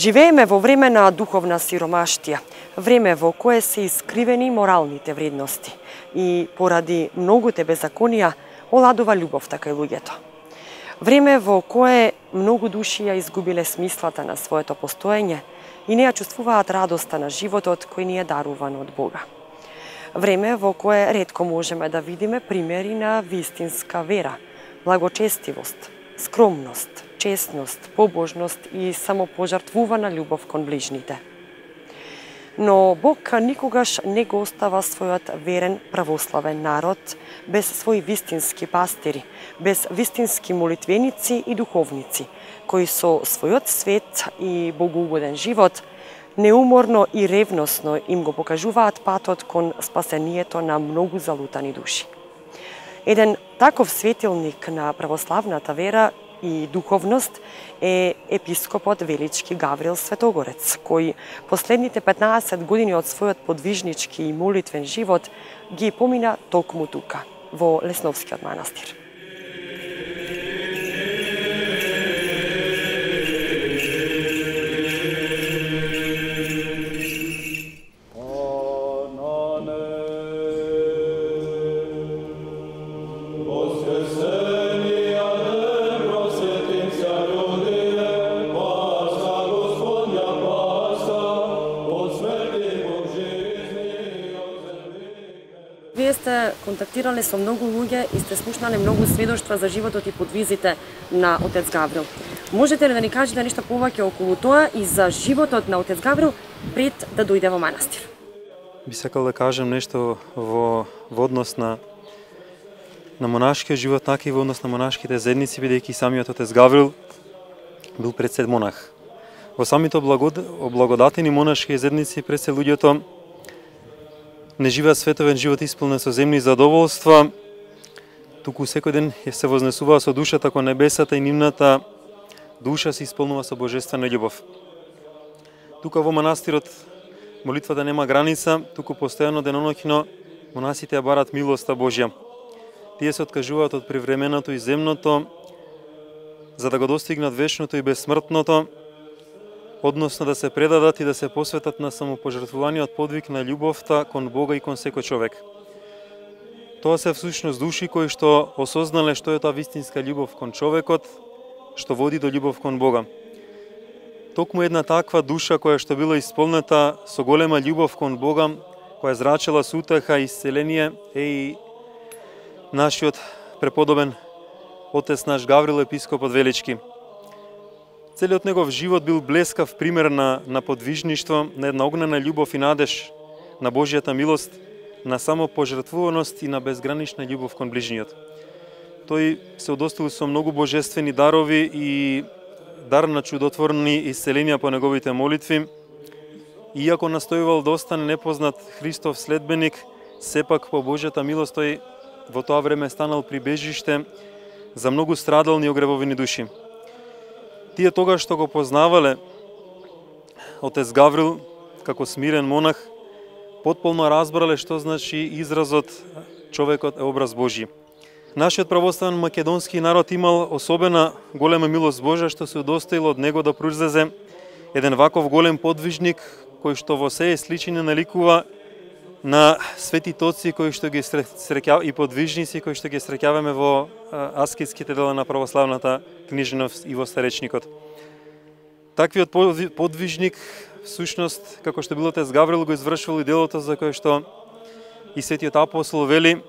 Живееме во време на духовна сиромаштија, време во кое се искривени моралните вредности и поради многуте беззаконија оладува љубовта кај луѓето. Време во кое многу души ја изгубиле смислата на своето постоење и не ја чувствуваат радоста на животот кој ни е даруван од Бога. Време во кое ретко можеме да видиме примери на вистинска вера, благочестивост, скромност, честност, побожност и самопожртвувана љубов кон ближните. Но Бог никогаш не го остава својот верен православен народ без своји вистински пастири, без вистински молитвеници и духовници, кои со својот свет и богоугоден живот неуморно и ревносно им го покажуваат патот кон спасението на многу залутани души. Еден таков светилник на православната вера и духовност е епископот Велички Гаврил Светогорец, кој последните 15 години од својот подвижнички и молитвен живот ги помина токму тука, во Лесновскиот манастир. Вие сте контактирале со многу луѓе и сте слушнале многу сведоштва за животот и подвизите на отец Гаврил. Можете ли да ни кажете нешто повеќе околу тоа и за животот на отец Гаврил пред да дојде во манастир? Би сакал да кажам нешто во однос на монашкиот живот, така и во однос на монашките заедници, бидејќи самиот отец Гаврил бил пресед монах. Во самите облагодатени монашки заедници пресед луѓето не живеат световен живот исполнен со земни задоволства, туку секој ден се вознесуваа со душата кон небесата и нивната душа се исполнува со божествена љубов. Тука во манастирот молитвата нема граница, туку постојано деноноќно монасите ја барат милоста Божја. Тие се откажуваат од привременото и земното, за да го достигнат вечното и безсмртното, односно да се предадат и да се посветат на самопожртвуваниот подвиг на љубовта кон Бога и кон секој човек. Тоа се всушност души кои што осознале што е таа вистинска љубов кон човекот, што води до љубов кон Бога. Токму една таква душа која што била исполнета со голема љубов кон Бога, која зрачела со утеха и исцеление, е и нашиот преподобен отец наш Гаврил епископот Велички. Целиот негов живот бил блескав пример на подвижништво, на една огнена љубов и надеж на Божјата милост, на самопожртвуваност и на безгранична љубов кон ближниот. Тој се удостоил со многу божествени дарови и дар на чудотворни исцеленија по неговите молитви. Иако настојувал да остане непознат Христов следбеник, сепак по Божјата милост тој во тоа време станал прибежиште за многу страдални и огревовени души. Тие тогаш што го познавале отец Гаврил како смирен монах, потполно разбрале што значи изразот човекот е образ Божји. Нашиот православен македонски народ имал особена голема милост Божја што се удостоил од него да произлезе еден ваков голем подвижник кој што во сее сличини наликува на светите отци кои што ги среќаваме и подвижници кои што ги среќаваме во аскетските дела на православната книжевност и во старечникот. Таквиот подвижник всушност како што бил отец Гаврил го извршувал и делото за кое што и светиот апостол вели: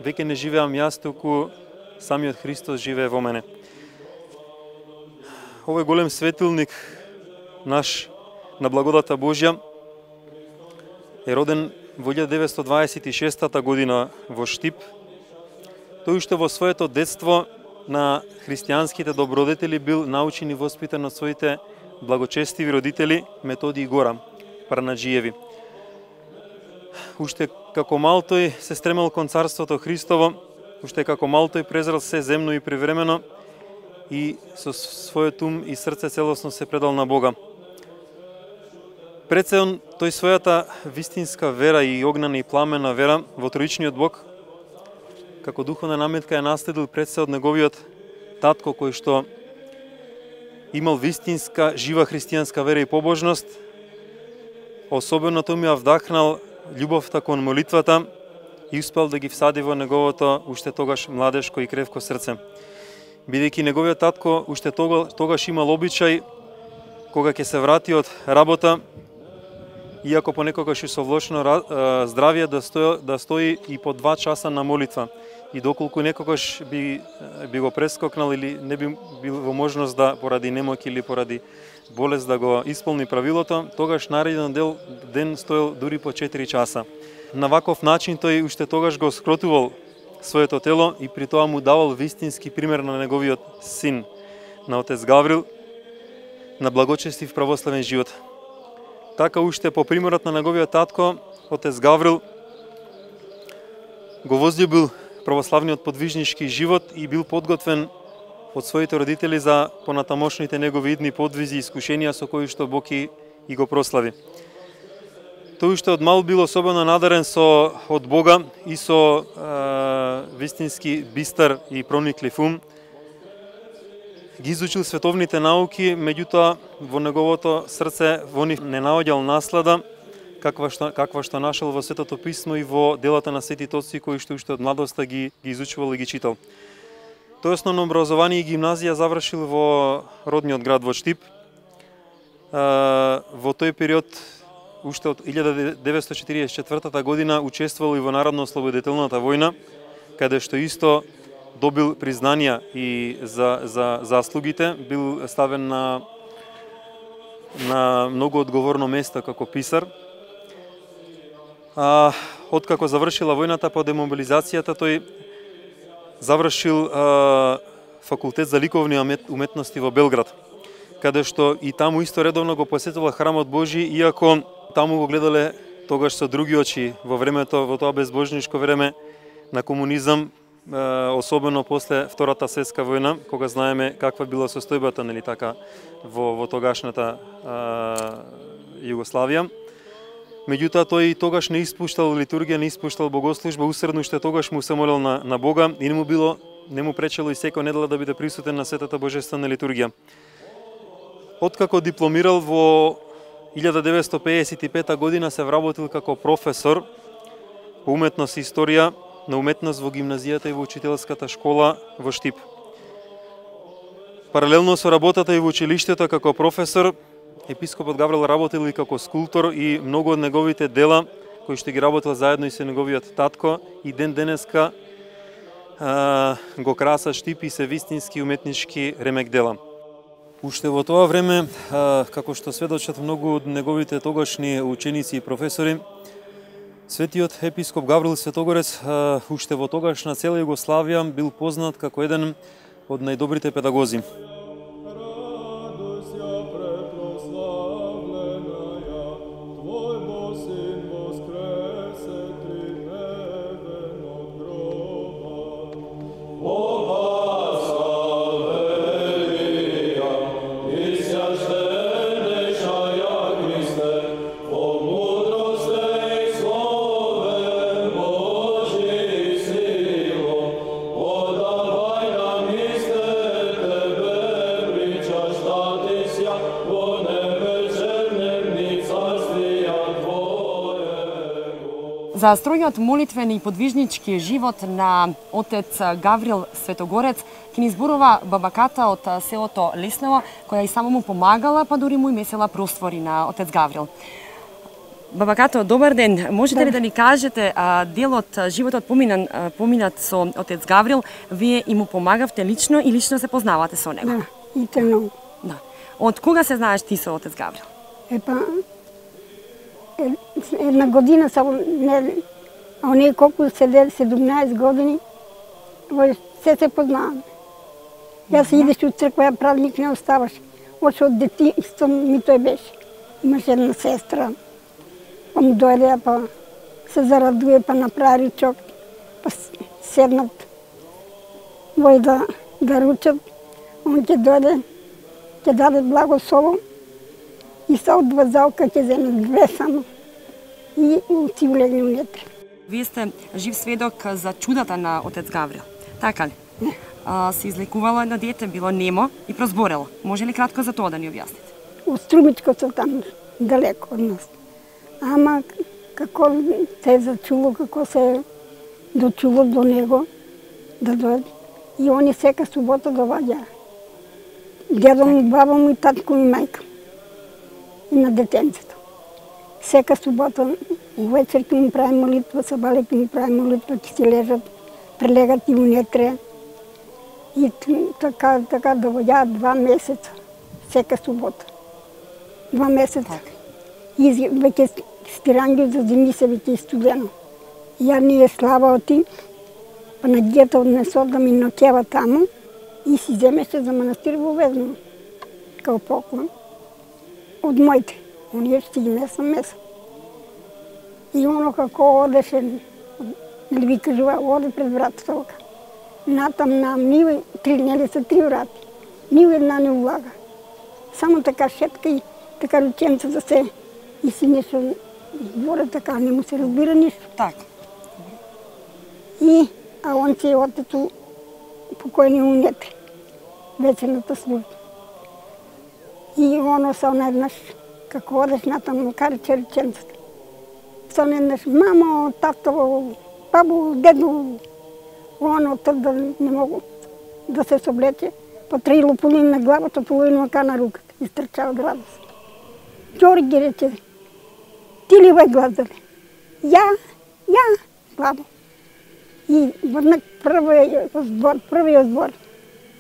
веќе не живеам јас, туку самиот Христос живее во мене. Овој голем светилник наш на благодата Божја е роден во 1926 година во Штип. Тој уште во своето детство на христијанските добродетели бил научен и воспитан од своите благочестиви родители Методи и Гора Парнаџиеви. Уште како мал тој се стремел кон Царството Христово, уште како мал тој презрел се земно и привремено и со својот ум и срце целосно се предал на Бога. Пред се тој својата вистинска вера и огнена и пламена вера во троичниот Бог, како духовна наметка ја наследил пред се од неговиот татко кој што имал вистинска, жива христијанска вера и побожност. Особено тој ми ја вдахнал љубовта кон молитвата и успел да ги всади во неговото уште тогаш младешко и кревко срце. Бидејќи неговиот татко уште тогаш имал обичај, кога ќе се врати од работа, иако понекогаш и со влошно здравје, да стои и по 2 часа на молитва. И доколку некогаш би го прескокнал или не би бил во можност да поради немоќ или поради болест да го исполни правилото, тогаш нареден ден стоел дури по 4 часа. На ваков начин тој уште тогаш го скротувал своето тело и при тоа му давал вистински пример на неговиот син, на отец Гаврил, на благочестив православен живот. Така уште по примерот на неговиот татко, отец Гаврил го возлюбил православниот подвижнички живот и бил подготвен од своите родители за понатамошните негови идни подвизи и искушенија со кои што Бог и го прослави. Тој уште од мал бил особено надарен од Бога и со вистински бистар и прониклив ум. Ги изучил световните науки, меѓутоа во неговото срце во нив не наоѓал наслада, каква што нашел во Светото писмо и во делата на светите отци кои што уште од младоста ги изучувал и ги читал. Тој основно образование и гимназија завршил во родниот град во Штип. Во тој период, уште од 1944 година, учествувал и во Народно-ослободителната војна, каде што исто добил признанија и за заслугите, бил ставен на многу одговорно место како писар. Откако завршила војната по демобилизацијата, тој завршил факултет за ликовни уметности во Белград, каде што и таму исто редовно го посетувал храмот Божи, иако таму го гледале тогаш со други очи во времето, во тоа безбожничко време на комунизам, особено после Втората светска војна, кога знаеме каква била состојбата, нели така, во тогашната Југославија. Меѓутоа тој тогаш не испуштал литургија, не испуштал богослужба, усредно уште тогаш му се молел на Бога и не му пречело и секоја недела да биде присутен на Светата Божествена литургија. Откако дипломирал во 1955 година, се вработил како професор по уметност и историја на уметност во гимназијата и во учителската школа во Штип. Паралелно со работата и во училиштето како професор, епископот Гаврил работил и како скулптор и многу од неговите дела, кои што ги работил заедно и со неговиот татко, и ден денеска го краса Штип и се вистински уметнички ремек дела. Уште во тоа време, како што сведочат многу од неговите тогашни ученици и професори, светиот епископ Гаврил Светогорец уште во тогашна цела Југославија бил познат како еден од најдобрите педагози. За стројниот молитвен и подвижнички живот на отец Гаврил Светогорец ќе ни зборува бабаката од селото Лесново, која и само му помагала, па дури му и месела простори на отец Гаврил. Бабакато, добар ден. Можете ли да ни кажете дел од животот поминат со отец Гаврил, вие и му помагавте лично и лично се познавате со него? Да, и тено. Да. Од кога се знаеш ти со отец Гаврил? Една година само, а оние колку 17 години, се познаваме. Јас идеш од црква, празник не оставаш. Още од детинство ми тој беше. Имаше една сестра, па му дојде, па се зарадуе, па направи ручок, па седнат вој да ручат. Он ќе дојде, ќе даде благослово и са од вазалка ќе земе 2 само и си улегне унетре. Вие сте жив сведок за чудата на отец Гаврил, така ли? Се излекувала едно дете, било немо и прозборело. Може ли кратко за тоа да ни објасните? Од Струмичко се там, далеко од нас. Ама како се зачуло, како се дочуло до него, да дојде. И они сека субота доваѓаа. Дедо му, баба му и татко ми мајка. И на детенцето. Сека субота, вечер ќе му прави молитва, сабале ќе му прави молитва, ќе си лежат, прелегат и унетре. И така доваѓаат 2 месеца, сека субота. 2 месеца. И веќе стиранги за зими се веќе студено. Ја ние слава оти, па на дјета однесо да ми ноќева таму и си земеше за манастир во Везново, као поклон. Од моите, оние ще ги несам меса. И оно како одеше, нели ви кажува, оде пред вратата ока. Натам нам, ниве, нели се 3 врати, ниве една не влага. Само така шетка и така рученца да се и си нешто збора така, не му се разбира ништо. Така. И, а он си е отето покојни унетре, вечерната служба. И оно са еднаш, како одеш натаму, кариче рученцата. Са еднаш, мамо, тато, бабу, деду, оно да не могу да се соблече, па 3 лопулини на главата, половина ока на руката, изтрча од радост. Ѓорги рече, ти ли овај глазале? Ја, бабо. И веднак првиот збор.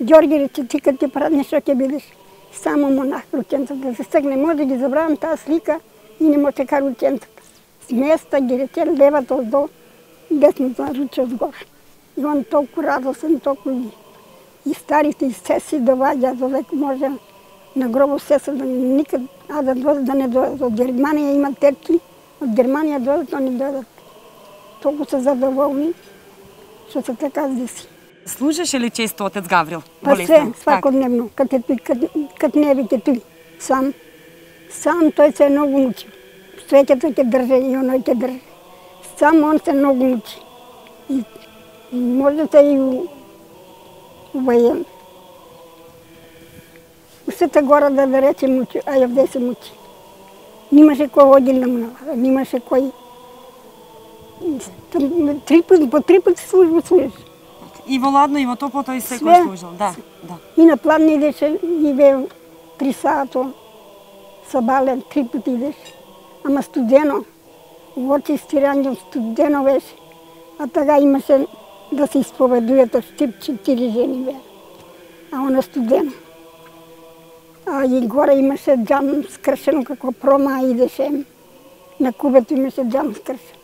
Ѓорги рече, ти кад ќе праднеш, што ќе бидеш? Само монах, рученцата да се стегне. Може да ги забравам таа слика и не може ка рученцата. Сместа ги рече левата оздо, десната руче одгоре. И он толку радосен, толку и старите и сеси доваѓа, додека може на гробо сеса да никад, да не дојдат. Од Германија има тетки, од Германија дојдат, они дојдат. Толку се задоволни, што се така деси. Служеше ли често отец Гаврил? Па се, свакодневно, кад не веќе тој, сам. Сам тој се многу мучи. Свеќето ќе држе и оној ќе држе. Сам он се многу мучи. И можете и увајен. Сета гора да рече мучи, а јавде се мучи. Нимаше кој одил да му навара, нимаше кој... По 3 пати служиш. И во ладно, и во топло тој секој служил, да. И на план идеше, и бе 3 сато, сабале, 3 пати идеше. Ама студено, во очи стиранје студено беше. А тага имаше да се исповедујат од Штип 4 жени бе. А она студено. А и горе имаше џам скршено како прома идеше. На кубето имаше џам скршено.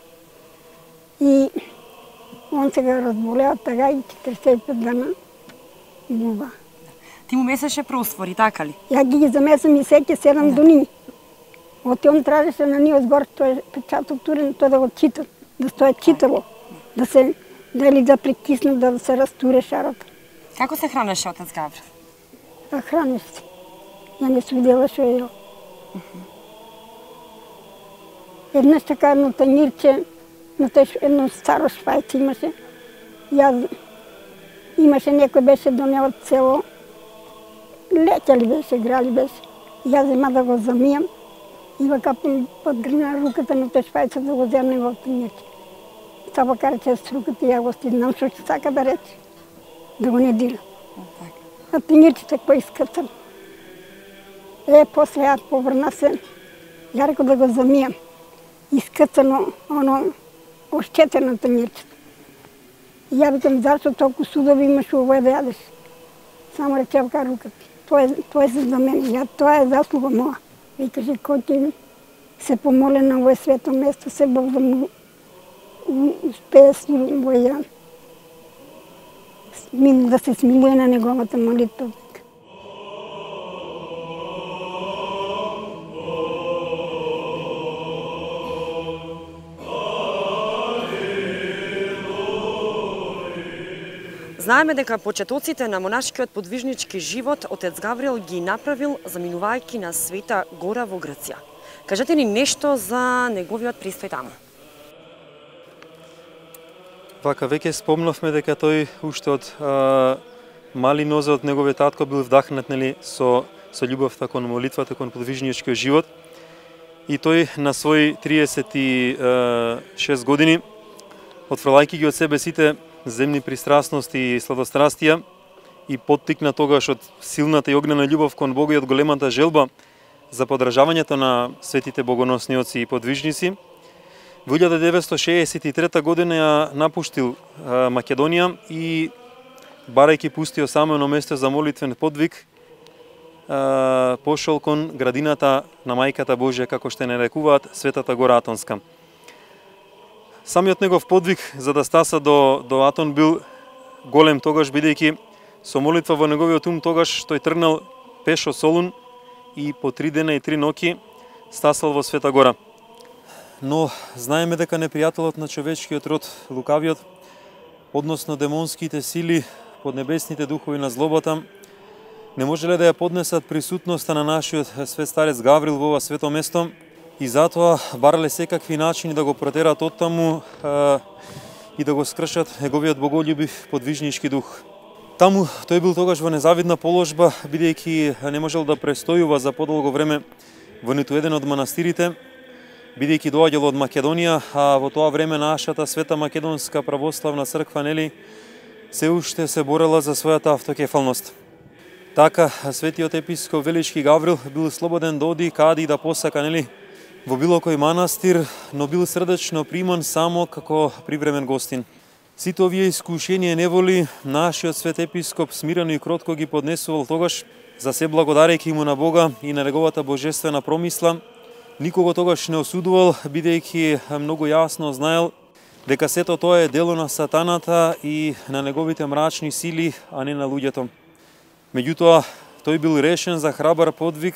И он се го разболеа тага и 45 дана губа. Ти му месеше просвори, така ли? Ја ги замесам и сеќе 7 дуни. Оти он тражеше на ние згор, тој е печаток турен, тој да го чита, да стоја читало, да се, дали да прекисне, да се растуре шарата. Како се хранеше отец Гаврил? А хранеше се. Ја не се видела што е. Еднаш така едно танирче, на тој едно старо шпајце имаше. Имаше некој беше донел од село, леќа ли беше, грали беше. Ја зема да го замијам и вака подгрна руката на тој шпајце да го земне во танирче. Саба караче с руката и ја го стиднам што ќе сака да рече. Да го не дира. А танирчето кој искрцам. После ја поврна се, ја реко да го замијам. Искрцано, оно, ошчетено танирчето. И ја викам, зашто толку судови имаш овој да јадеш? Само рече вака руката. Тоа е за мене, тоа е заслуга моја. И каже, кој ќе се помоле на овој свето место, се Бог да му успее да се смилуе на неговата молитва. Знаеме дека почетоците на монашкиот подвижнички живот отец Гаврил ги направил заминувајќи на Света Гора во Грција. Кажете ни нешто за неговиот престој таму. Вака веќе спомнавме дека тој уште од мали нозе од неговиот татко бил вдахнат, нели, со љубовта кон молитвата, кон подвижничкиот живот. И тој на своји 36 години, отфрлајќи ги од себе сите земни пристрасности и сладострастија и поттикна тогаш од силната и огнена љубов кон Бога и од големата желба за поддржавањето на светите богоносни оци и подвижници, во 1963 година ја напуштил Македонија и, барајќи пустио самено место за молитвен подвиг, пошол кон градината на Мајката Божја, како што не нарекуваат Светата гора Атонска. Самиот негов подвиг за да стаса до Атон бил голем тогаш, бидејќи со молитва во неговиот ум тогаш тој тргнал пешо Солун и по 3 дена и 3 ноќи стасал во Света гора. Но знаеме дека непријателот на човечкиот род, лукавиот, односно демонските сили, поднебесните духови на злобата, не можеле да ја поднесат присутноста на нашиот свет старец Гаврил во ова свето место и затоа барале секакви начини да го протерат оттаму и да го скршат неговиот боголюбив подвижнички дух. Таму тој бил тогаш во незавидна положба, бидејќи не можел да престојува за подолго време во ниту еден од манастирите, бидејќи доаѓал од Македонија, а во тоа време нашата Света Македонска православна црква, нели, се уште се борела за својата автокефалност. Така, светиот епископ Велички Гаврил бил слободен да оди каде и да посака, нели, во било кој манастир, но бил срдечно приман само како привремен гостин. Сите овие искушенија и неволи нашиот свет епископ смирено и кротко ги поднесувал тогаш, за се благодарејќи му на Бога и на неговата божествена промисла. Никого тогаш не осудувал, бидејќи многу јасно знаел дека сето тоа е дело на сатаната и на неговите мрачни сили, а не на луѓето. Меѓутоа, тој бил решен за храбар подвиг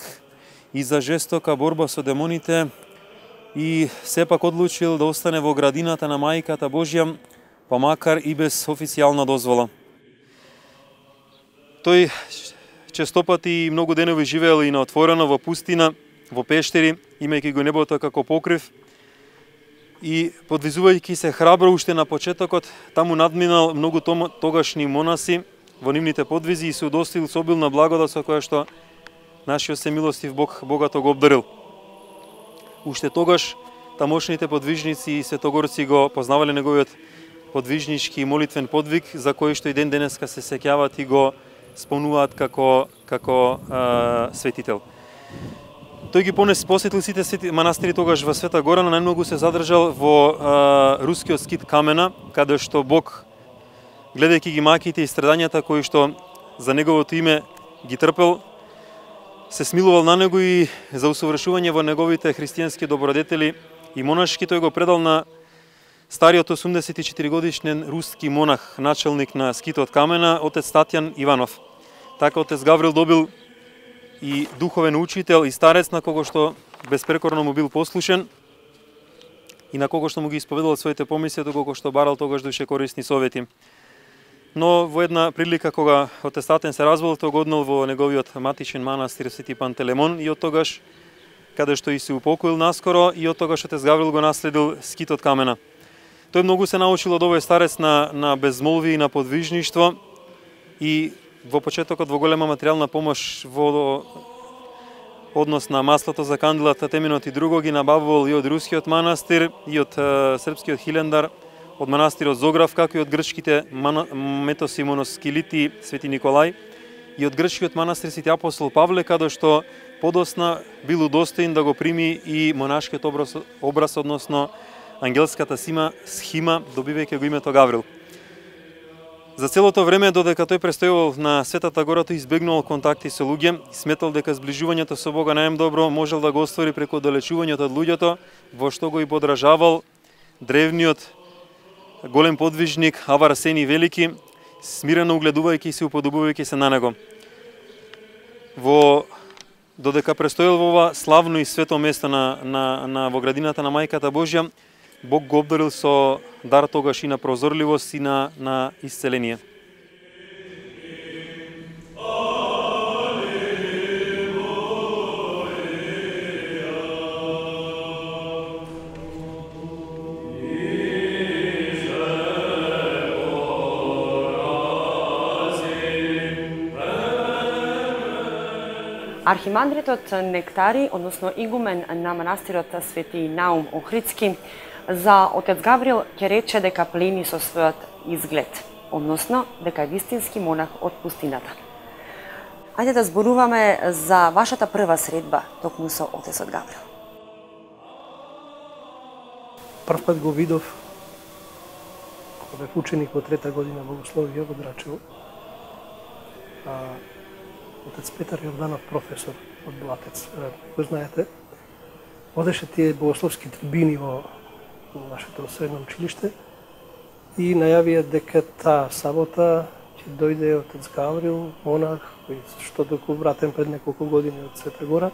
и за жестока борба со демоните и сепак одлучил да остане во градината на Мајката Божја, па макар и без официјална дозвола. Тој честопати и многу денови живеел и на отворено во пустина, во пештери, имајќи го небото како покрив и подвизувајќи се храбро уште на почетокот, таму надминал многу тогашни монаси во нивните подвизи и се удостоил со обилна благодат со која што нашиот семилостив Бог богато го обдарил. Уште тогаш тамошните подвижници и светогорци го познавале неговиот подвижнички и молитвен подвиг, за кој што и ден денеска се сеќаваат и го спомнуваат како светител. Тој ги посетил сите манастири тогаш во Света гора, но најмногу се задржал во рускиот скит Камена, каде што Бог, гледајќи ги маките и страдањата кои што за неговото име ги трпел, се смилувал на него и за усовршување во неговите христијански добродетели и монашки тој го предал на стариот 84 годишен руски монах, начелник на скитот Камена, отец Татјан Иванов. Така отец Гаврил добил и духовен учител и старец на кого што безпрекорно му бил послушен и на кого што му ги исповедал своите помисли, доколку што барал тогаш душе корисни совети. Но во една прилика кога отец Татен се развол, тој го однел во неговиот матичен манастир Свети Пантелемон и од тогаш, каде што и се упокоил наскоро, и од тогаш отец Гаврил го наследил скитот Камена. Тој многу се научил од овој старец на безмолвие и на подвижништво и во почетокот во голема материјална помош во однос на маслото за канделата, теменот и друго ги набавувал и од рускиот манастир, и од српскиот Хилендар, од манастирот Зограф, како и од грчките метоси моноскилити Свети Николај, и од грчкиот манастир Свети апостол Павле, каде што подосна бил удостоен да го прими и монашкиот образ, односно ангелската схима, добивајќи го името Гаврил. За целото време додека тој престојувал на Светата гора, тој избегнувал контакти со луѓе и сметал дека сближувањето со Бога најдобро можел да го оствари преку оддалечувањето од луѓето, во што го и подражавал древниот голем подвижник Ава Арсений Велики, смирено угледувајќи се и уподобувајќи се на него. Додека престојал во ова славно и свето место во градината на Мајката Божја, Бог го обдарил со дар тогаш и на прозорливост и на исцеление. Архимандритот Нектари, односно игумен на манастирот Свети Наум Охридски, за отец Гаврил ќе рече дека плени со својот изглед, односно дека е вистински монах од пустината. Ајде да зборуваме за вашата прва средба токму со отецот Гаврил. Прв пат го видов кога бев ученик во трета година богословие во Драчево. Отец Петар Јорданов, професор од Блатец, го знаете, водеше тие богословски трибини во нашето средно училиште и најавија дека таа сабота ќе дојде отец Гаврил, монах, кој што доку вратен пред неколку години од Света Гора,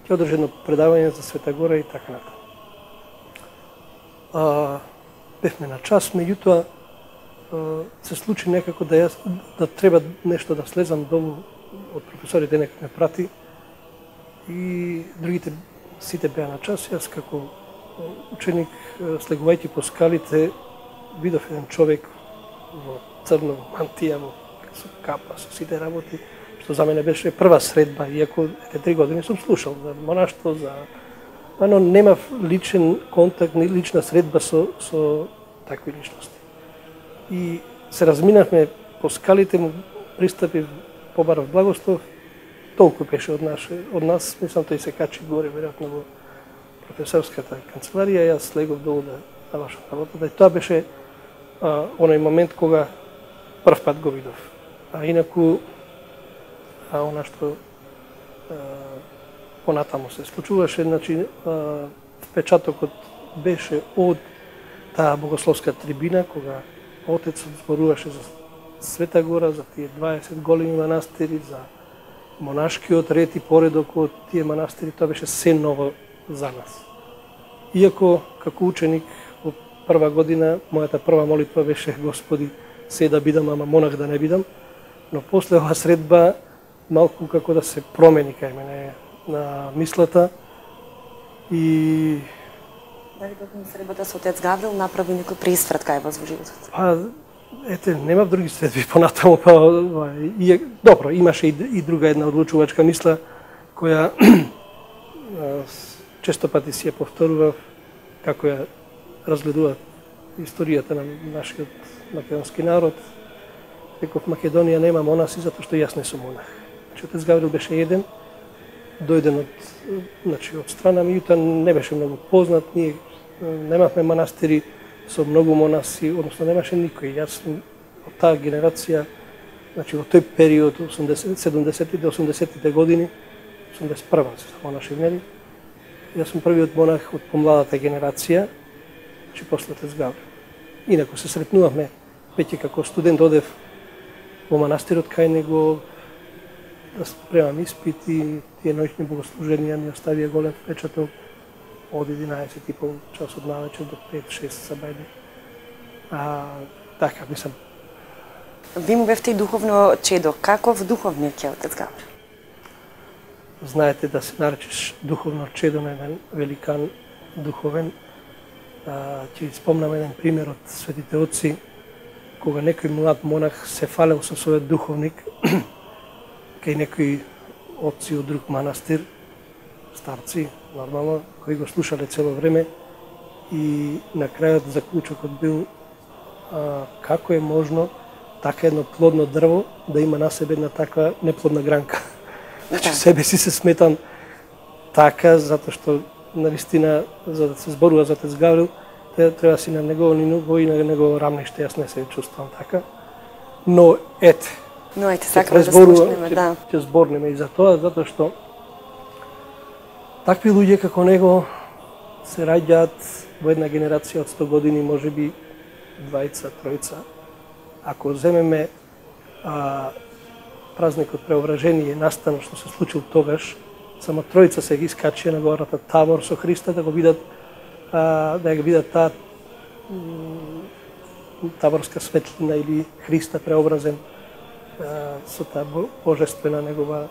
ќе одржи едно предавање за Света Гора и така натаму. Бевме на час, меѓутоа се случи некако да треба нешто да слезам долу од професорите, некој ме прати и другите сите беа на час. Јас како ученик, слегувајќи по скалите, видов еден човек во црно, во мантија, со капа, со сите работи, што за мене беше прва средба, иако 3 години сум слушал за монаштво, но немав личен контакт, ни лична средба со такви личности. И се разминавме по скалите, му пристапив, побарав благослов, толку беше од нас, мислам, тој се качи горе, веројатно во професорската канцеларија, јас слегов долу да завршам работата. И тоа беше оној момент кога прв пат го видов. А инаку, она што понатаму се случуваше, значи, впечатокот беше од таа богословска трибина, кога отецот зборуваше за Света Гора, за тие 20 големи манастири, за монашкиот ред и поредок од тие манастири, тоа беше се ново за нас. Иако, како ученик, во прва година, мојата прва молитва беше Господи, се да бидам, ама монах да не бидам, но после оваа средба, малку како да се промени кај мене на мислата и... Дали токму средбата со отец Гаврил направи некој преисврат кај вас во животот? Ете, немав други средби понатаму, добро, имаше и друга една одлучувачка мисла, која често пати си ја повторував, како ја разгледува историјата на нашиот македонски народ. Реков, Македонија нема монаси затоа што јас не сум монах. Значи, отец Гаврил беше еден, дојден од страна, меѓутоа не беше многу познат, ние немавме манастири со многу монаси, односно немаше никој. Јас од таа генерација, значи во тој период, 70-те до 80-тите години, 81-а се монаши внели, јас сум првиот монах од помладата генерација, значи после отец Гаврил. Инаку се сретнувавме, веќе како студент одев во манастирот кај него, да спремам испити, тие ноќни богослуженија ни оставија голем впечаток од 11:30 часот навечер до 5-6 сабајде. Така, мислам. Ви му бевте и духовно чедо. Каков духовник е отец Гаврил? Знаете, да се наречеш духовно чедо на еден великан духовен. Ќе спомнам еден пример од светите отци, кога некој млад монах се фалел со својот духовник, кај некои отци од друг манастир, старци, нормално, кои го слушале цело време и на крајот заклучокот бил како е можно така едно плодно дрво да има на себе една таква неплодна гранка. Значи себе си се сметам така, затоа што навистина, за да се зборува за отец Гаврил, треба си на негово ниво и на негово рамниште, јас не се чувствам така. Но ете, сакаме да слушнеме, да. Ќе зборнеме и за тоа, затоа што такви луѓе како него се раѓаат во една генерација од 100 години, можеби 2-3. Ако земеме празникот Преображение, настано што се случил тогаш, само 3 се ги искачија на гората Табор со Христа да го видат, да ја видат таа таборска светлина или Христа преобразен со таа божествена негова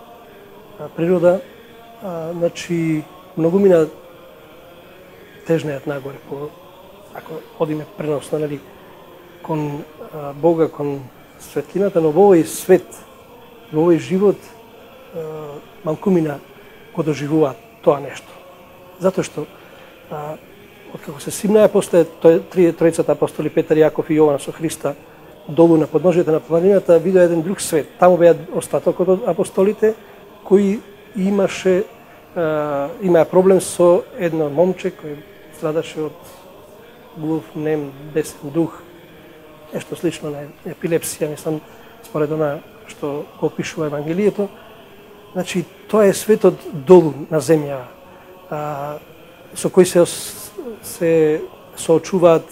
природа. Значи, многу мина тежнеат нагоре, ако одиме преносно, нали, кон Бога, кон светлината, но во овој свет, во овој живот, малкумина го доживуваат тоа нешто. Затоа што откако се симнаа после тројцата апостоли Петар, Јаков и Јован со Христа долу на подножието на планината, видоа еден друг свет. Таму беа остатокот од апостолите кои имаа проблем со едно момче кој страдаше од глув, нем, бесен дух, нешто слично на епилепсија, мислам, според она што го опишува Евангелието. Значи, тоа е светот долу на земја, со кој се соочуваат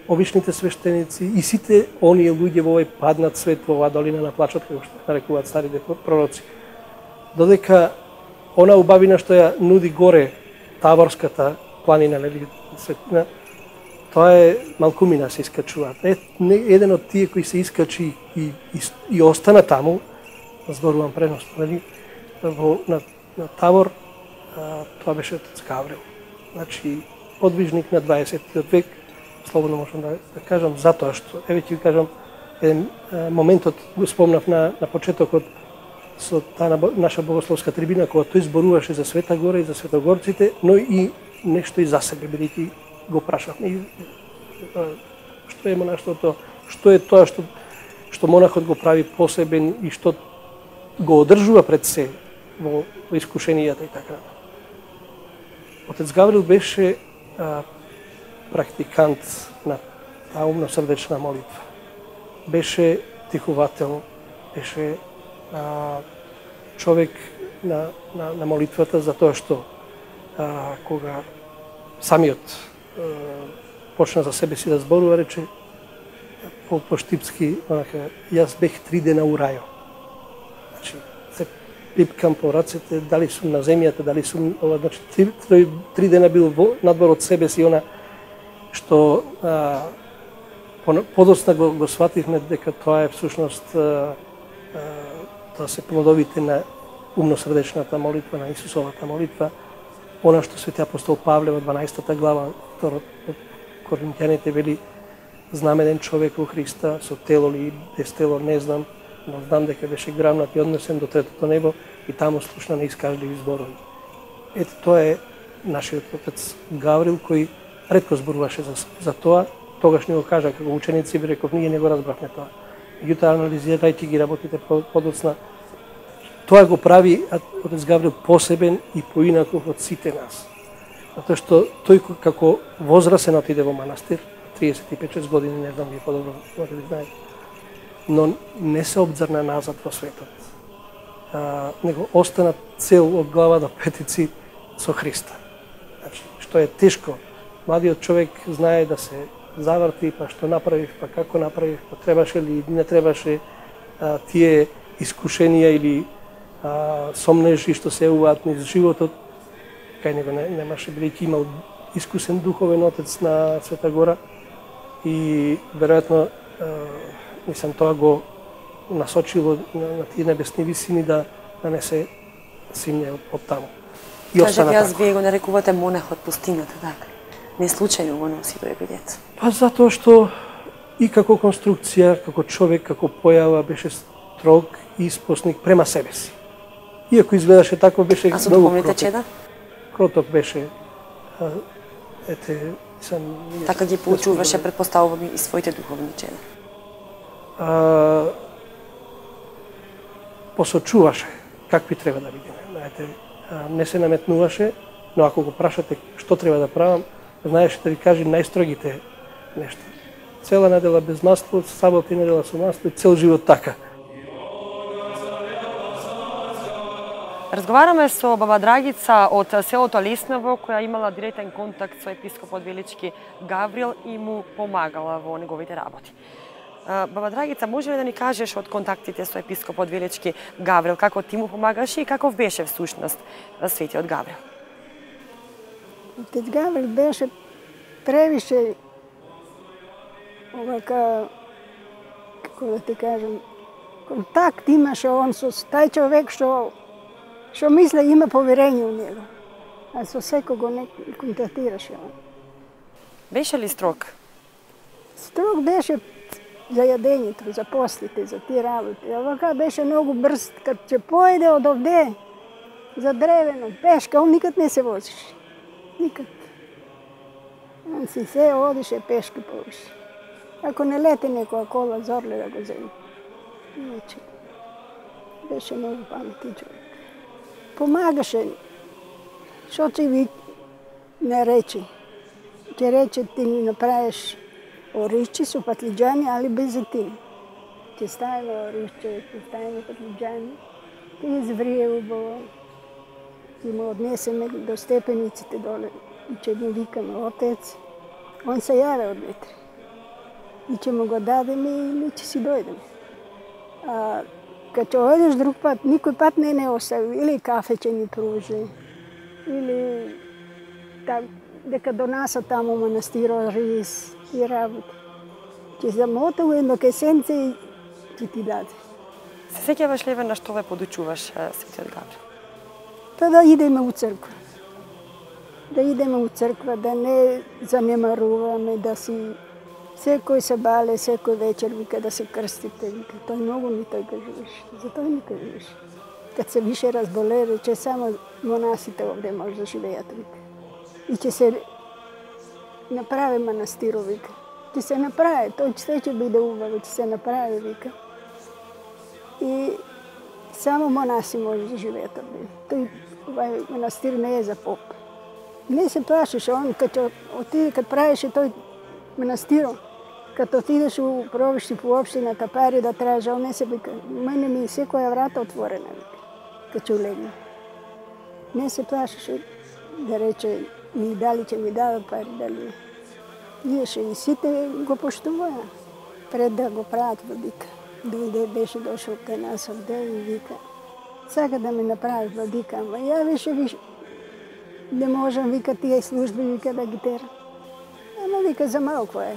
обичните свештеници и сите оние луѓе во овој паднат свет, во оваа долина на плачот, како што нарекуваат старите пророци. Додека она убавина што ја нуди горе Таворската планина, нели, светина, тоа е малкумина, се искачуваат. Еден од тие кои се искачи и остана таму, зборувам преносно, нели, на Тавор, тоа беше отец Гаврил. Значи, подвижник на 20-тиот век, слободно можам да кажам, затоа што, еве ќе ви кажам, еден моментот го спомнав на почетокот со таа наша богословска трибина, кога тој зборуваше за Света Гора и за светогорците, но и нешто и за себе, бидејќи го прашавме што е монаштвото, што е тоа што монахот го прави посебен и што го одржува пред се во искушенијата и така. Отец Гаврил беше практикант на таа умно-срдечна молитва. Беше тихувател, беше човек на молитвата, затоа што кога самиот почна за себе си да зборува, рече по штипски, јас бех 3 дена у рајо. Значи, се пипкам по рацете, дали сум на земјата, дали сум, значи, 3 дена бил надвор од себе си, она што подоцна го свативме дека тоа е всушност тоа се плодовите на умно-срдечната молитва, на Исусовата молитва, она што свети апостол Павле во 12 глава, второт од Коринќаните вели: знаменен човек во Христа, со тело ли без тело не знам, но знам дека беше грамнат и однесен до третото небо и таму слушна неискажливи зборови. Ето тоа е нашиот отец Гаврил, кој ретко зборуваше за тоа. Тогаш ни го кажа како ученици, би реков, ние не го разбрахме тоа. Меѓутоа, анализирајќи ги работите подоцна, тоа го прави отец Гаврил посебен и поинаков од сите нас. Затоа што тој како возрасен отиде во манастир, 35-6 години, не знам, вие подобро може да знаете, но не се обзрна назад во светот. Него остана цел од глава до петици со Христа. Значи, што е тешко. Младиот човек знае да се заврти, па што направив, па како направив, па требаше ли, не требаше, тие искушенија или сомнежи што се јавуваат низ животот, кај него немаше, бидејќи имал искусен духовен отец на Света Гора и веројатно мислам тоа го насочило на тие небесни висини да не се симне од таму. Кажете, јас вие го нарекувате монах од пустината, така? Не случајно го носи тој епитет? Па затоа што и како конструкција, како човек, како појава беше строг и испосник према себе си. Иако изгледаше тако, беше многу кроток. А со духовните чеда? Кроток беше. Така ги поучуваше, предпоставувам, и своите духовни чеда? Посочуваше какви треба да бидеме. Знаете, не се наметнуваше, но ако го прашате што треба да правам, знаеше да ви кажи најстрогите нешта. Цела недела без масло, сабота и недела со масло и цел живот така. Разговараме со баба Драгица од селото Лесново, која имала директен контакт со епископот Велички Гаврил и му помагала во неговите работи. Баба Драгица, може ли да ни кажеш од контактите со епископот Велички Гаврил, како ти му помагаше и каков беше всушност светиот Гаврил? Отец Гаврил беше превише овака, како да ти кажам, контакт имаше он со тај човек што мисля има поверење у него. А со секого не контактираше он. Беше ли строг? Строг беше. за јадењето, за послите, за тие работи. А вака беше многу брз, кад ќе поеде од овде за древено, пешка, он никад не се возише. Никад. Он си се одише пешки повише. Ако не лети некоја кола, зорле да го земе. Иначе, беше многу паметен човек. Помагаше. Што ќе ви не рече? Ќе рече ти ни направиш оришче со патлиџани, али без зетин. Ќе ставиме оришче, ќе ставиме патлиџани, ќе изврие убаво, ќе му однесеме до степениците доле и ќе му викаме отец. Он се јаве од ветре. И ќе му го дадеме и ми ќе си дојдеме. А кад ќе одиш друг пат, никој пат не остави. Или кафе ќе ни пружи, или дека донаса таму манастиро рис и работи. Ќе замотува едно кесенце и ќе ти даде. Се сеќаваш ли на што ве подучуваш Светиот Гаврил? Тоа да идеме у црква. Да идеме у црква, да не занемаруваме, да си секој се бале, секој вечер вика да се крстите, вика. Тој многу ни тој кажуваше. За тој ни кажуваше. Кад се више разболе, рече само монасите овде може да живеат, вика. И ќе се направи манастиро, вика. Ќе се направи, тој се ќе биде убаво, ќе се направи, вика. И само монаси може да живеат овде. Тој манастир не е за поп. Не се плашеше, он кад правеше тој манастиро, кад отидеш у провишти по општината пари да тража, он не се вика, мене ми секоја врата отворена, вика, кад ќе улегне. Не се плашеше да рече и дали ќе ми дадат пари, дали не. Иеше и сите го поштуваја пред да го прават владика. Дојде, беше дошол кај нас овде и вика, сака да ме направи владика, ама ја више не можам, вика, тие служби, вика, да ги терам. Ама вика, за малко е.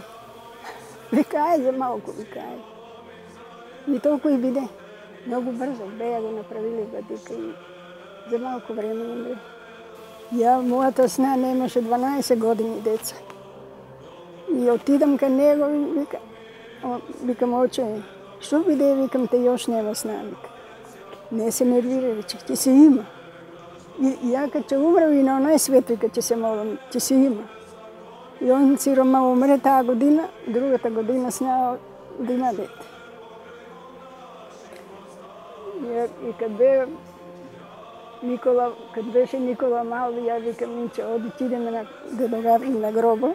Вика, ај, за малко, вика, ај. И толку и биде. Многу брзо, беја го направили владика и за малко време умре. Ја, мојата сна немаше 12 години деца. И отидам кај него и викам, оче, што биде, викам, те још нема сна, вика. Не се нервира, рече, ќе се има. И ја кад ќе умрам и на оној свет, вика, ќе се молам, ќе се има. И он сирома умре таа година, другата година сна да има дете. И кад беше Никола мал, ја викам, Минче, оди, идеме на Дедо Гаврил на гроба,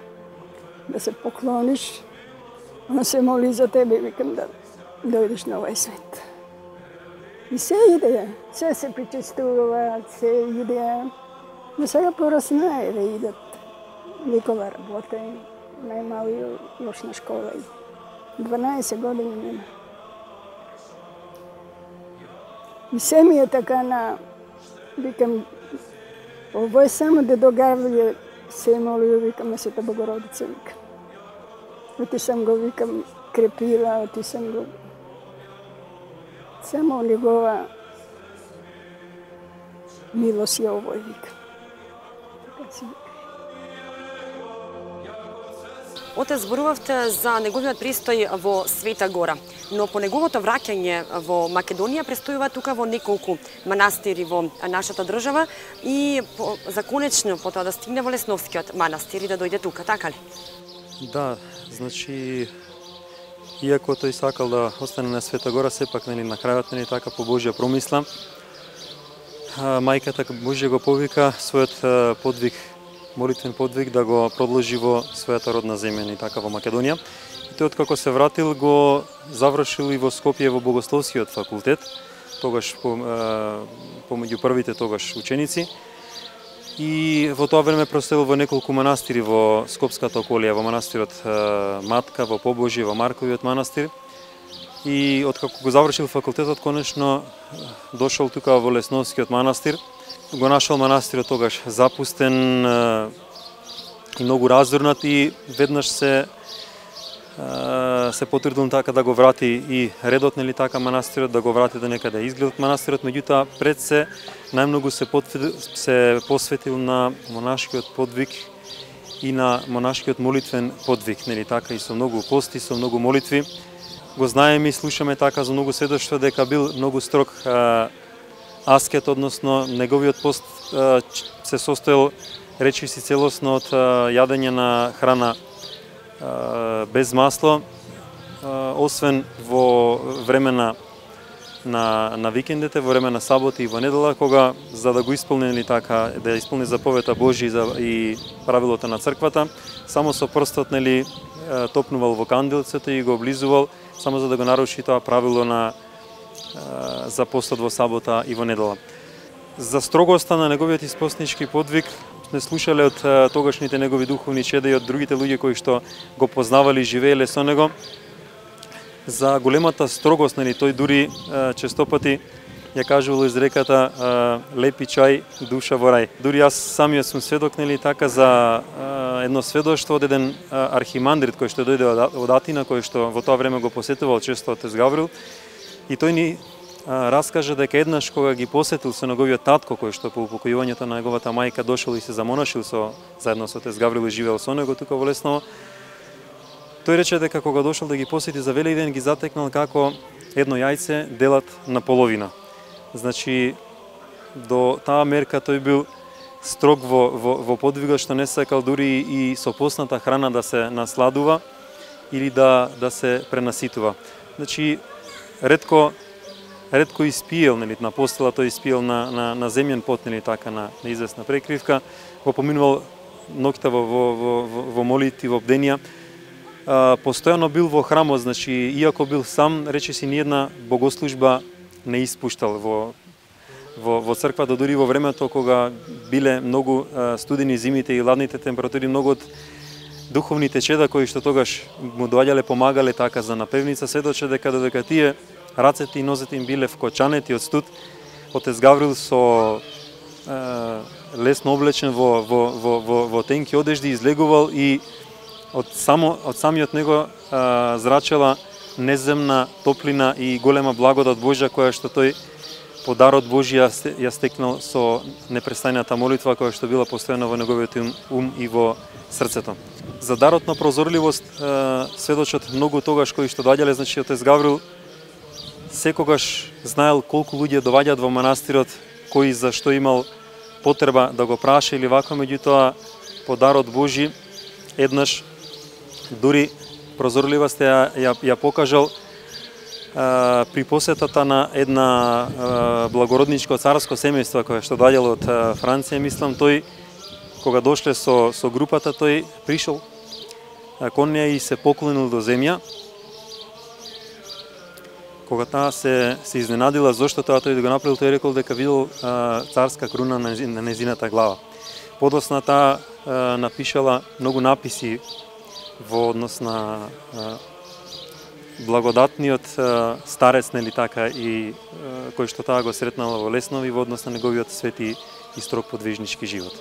да се поклониш, он се моли за тебе, викам, да дојдеш на овој свет. И се иде, се причестуваат, се иде. Но сега пораснае да идат. Никола работе, најмалиот још на школа. 12 години нема. И се ми е така викам, ово е само Дедо Гаврил се молio, викам, на Света Богородица, викам. Оти сам го, викам, крепила, оти сам го. Само негова милост ја овој, викам. Така си викам. Отец, зборувавте за неговиот престој во Света Гора, но по неговото враќање во Македонија престојува тука во неколку манастири во нашата држава и за конечно потоа да стигне во Лесновскиот манастир и да дојде тука, така ли? Да, значи, иако тој сакал да остане на Света Гора, сепак на крајот така по Божја промисла, мајката Божја го повика својот подвиг, молитвен подвиг да го продолжи во својата родна земја, така во Македонија. И тој откако се вратил го завршил и во Скопје во Богословскиот факултет, тогаш помеѓу првите тогаш ученици. И во тоа време проселил во неколку манастири во Скопската околија, во манастирот Матка, во Побожје, во Марковиот манастир. И откако го завршил факултетот, конечно дошол тука во Лесновскиот манастир. Го нашол манастирот тогаш запустен и многу разорнат и веднаш се потрудил така да го врати и редот, нели така, манастирот, да го врати до некаде изгледот манастирот, меѓутоа пред се најмногу се посветил на монашкиот подвиг и на монашкиот молитвен подвиг, нели така, и со многу пости, со многу молитви, го знаеме и слушаме така за многу сведоштва дека бил многу строг аскет, односно неговиот пост се состоел речиси целосно од јадење на храна без масло, освен во време на викендите, во време на саботи и во недела, кога за да го исполнили така, да исполни заповета Божја и правилото на црквата, само со прстот топнувал во канделцето и го облизувал, само за да го наруши тоа правило за постот во сабота и во недела. За строгоста на неговиот испостнички подвиг сме слушале од тогашните негови духовни чеда и од другите луѓе кои што го познавали и живееле со него. За големата строгост, тој дури честопати ја кажувал изреката лепи чај, душа во рај. Дури јас самиот сум сведок така за едно сведоштво од еден архимандрит кој што дојде од Атина, кој што во тоа време го посетувал често отец Гаврил, и тој ни раскажа дека еднаш кога ги посетил со неговиот татко, кој што по упокојувањето на неговата мајка дошол и се замонашил заедно со отец Гаврил и живеел со него тука во Лесново, тој рече дека кога дошол да ги посети за Великден ги затекнал како едно јајце делат на половина. Значи, до таа мерка тој бил строг во подвигот, што не сакал дури и со постната храна да се насладува или да се пренаситува. Значи, ретко испиел, на постела тој испиел на земјен пот, така на известна прекривка, го поминувал ноќта во молитви, во бденија. Постојано бил во храмот, значи, иако бил сам, речиси ниедна богослужба не испуштал во црквата, дури во времето кога биле многу студени зимите и ладните температури, многу од духовните чеда кои што тогаш му доаѓале, помагале така за напевница, сведоче дека додека тие рацете и нозете им биле вкочанети од студ, отец Гаврил со лесно облечен во тенки одежди излегувал и од самиот него зрачела неземна топлина и голема благодат Божја, која што тој по дарот Божја ја стекнал со непрестајната молитва која што била постојано во неговиот ум и во срцето. За дарот на прозорливост сведочат многу тогаш кои што доаѓале, значи отец Гаврил секогаш знаел колку луѓе доаѓаат во манастирот, кои за што имал потреба да го праша или вако, меѓутоа по дарот Божи еднаш дури прозорливост ја покажал при посетата на една благородничко царско семејство кое што доаѓало од Франција, мислам, тој кога дошле со групата, тој пришол кон неа и се поклонил до земја. Кога таа се изненадила зошто тоа тој да го направил, тој рекол дека видел царска круна на незината глава. Подосна таа напишала многу написи во однос на благодатниот старец, така, и кој што таа го сретнала во Лесново и во однос на неговиот свети и строг подвижнички живот.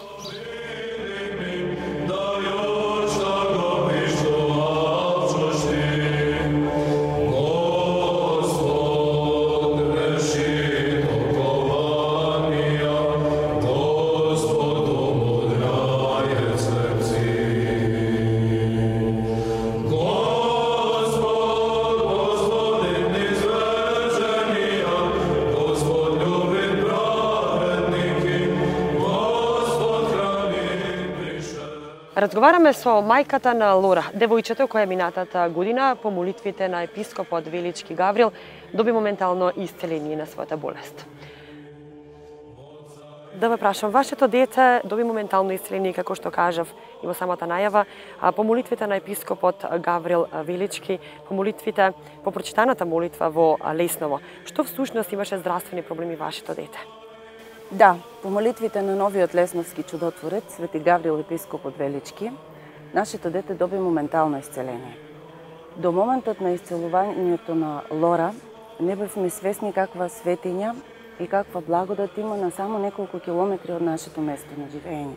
Разговараме со мајката на Лора, девојчето која минатата година по молитвите на епископот Велички Гаврил доби моментално исцеление на својата болест. Да ве прашам, вашето дете доби моментално исцеление, како што кажав и во самата најава, по молитвите на епископот Гаврил Велички, по молитвите, по прочитаната молитва во Лесново. Што всушност имаше здравствени проблеми вашето дете? Да, по молитвите на новиот лесновски чудотворец, Свети Гаврил епископот Велички, нашето дете доби моментално исцеление. До моментот на исцелувањето на Лора не бевме свесни каква светиња и каква благодат има на само неколку километри од нашето место на живење.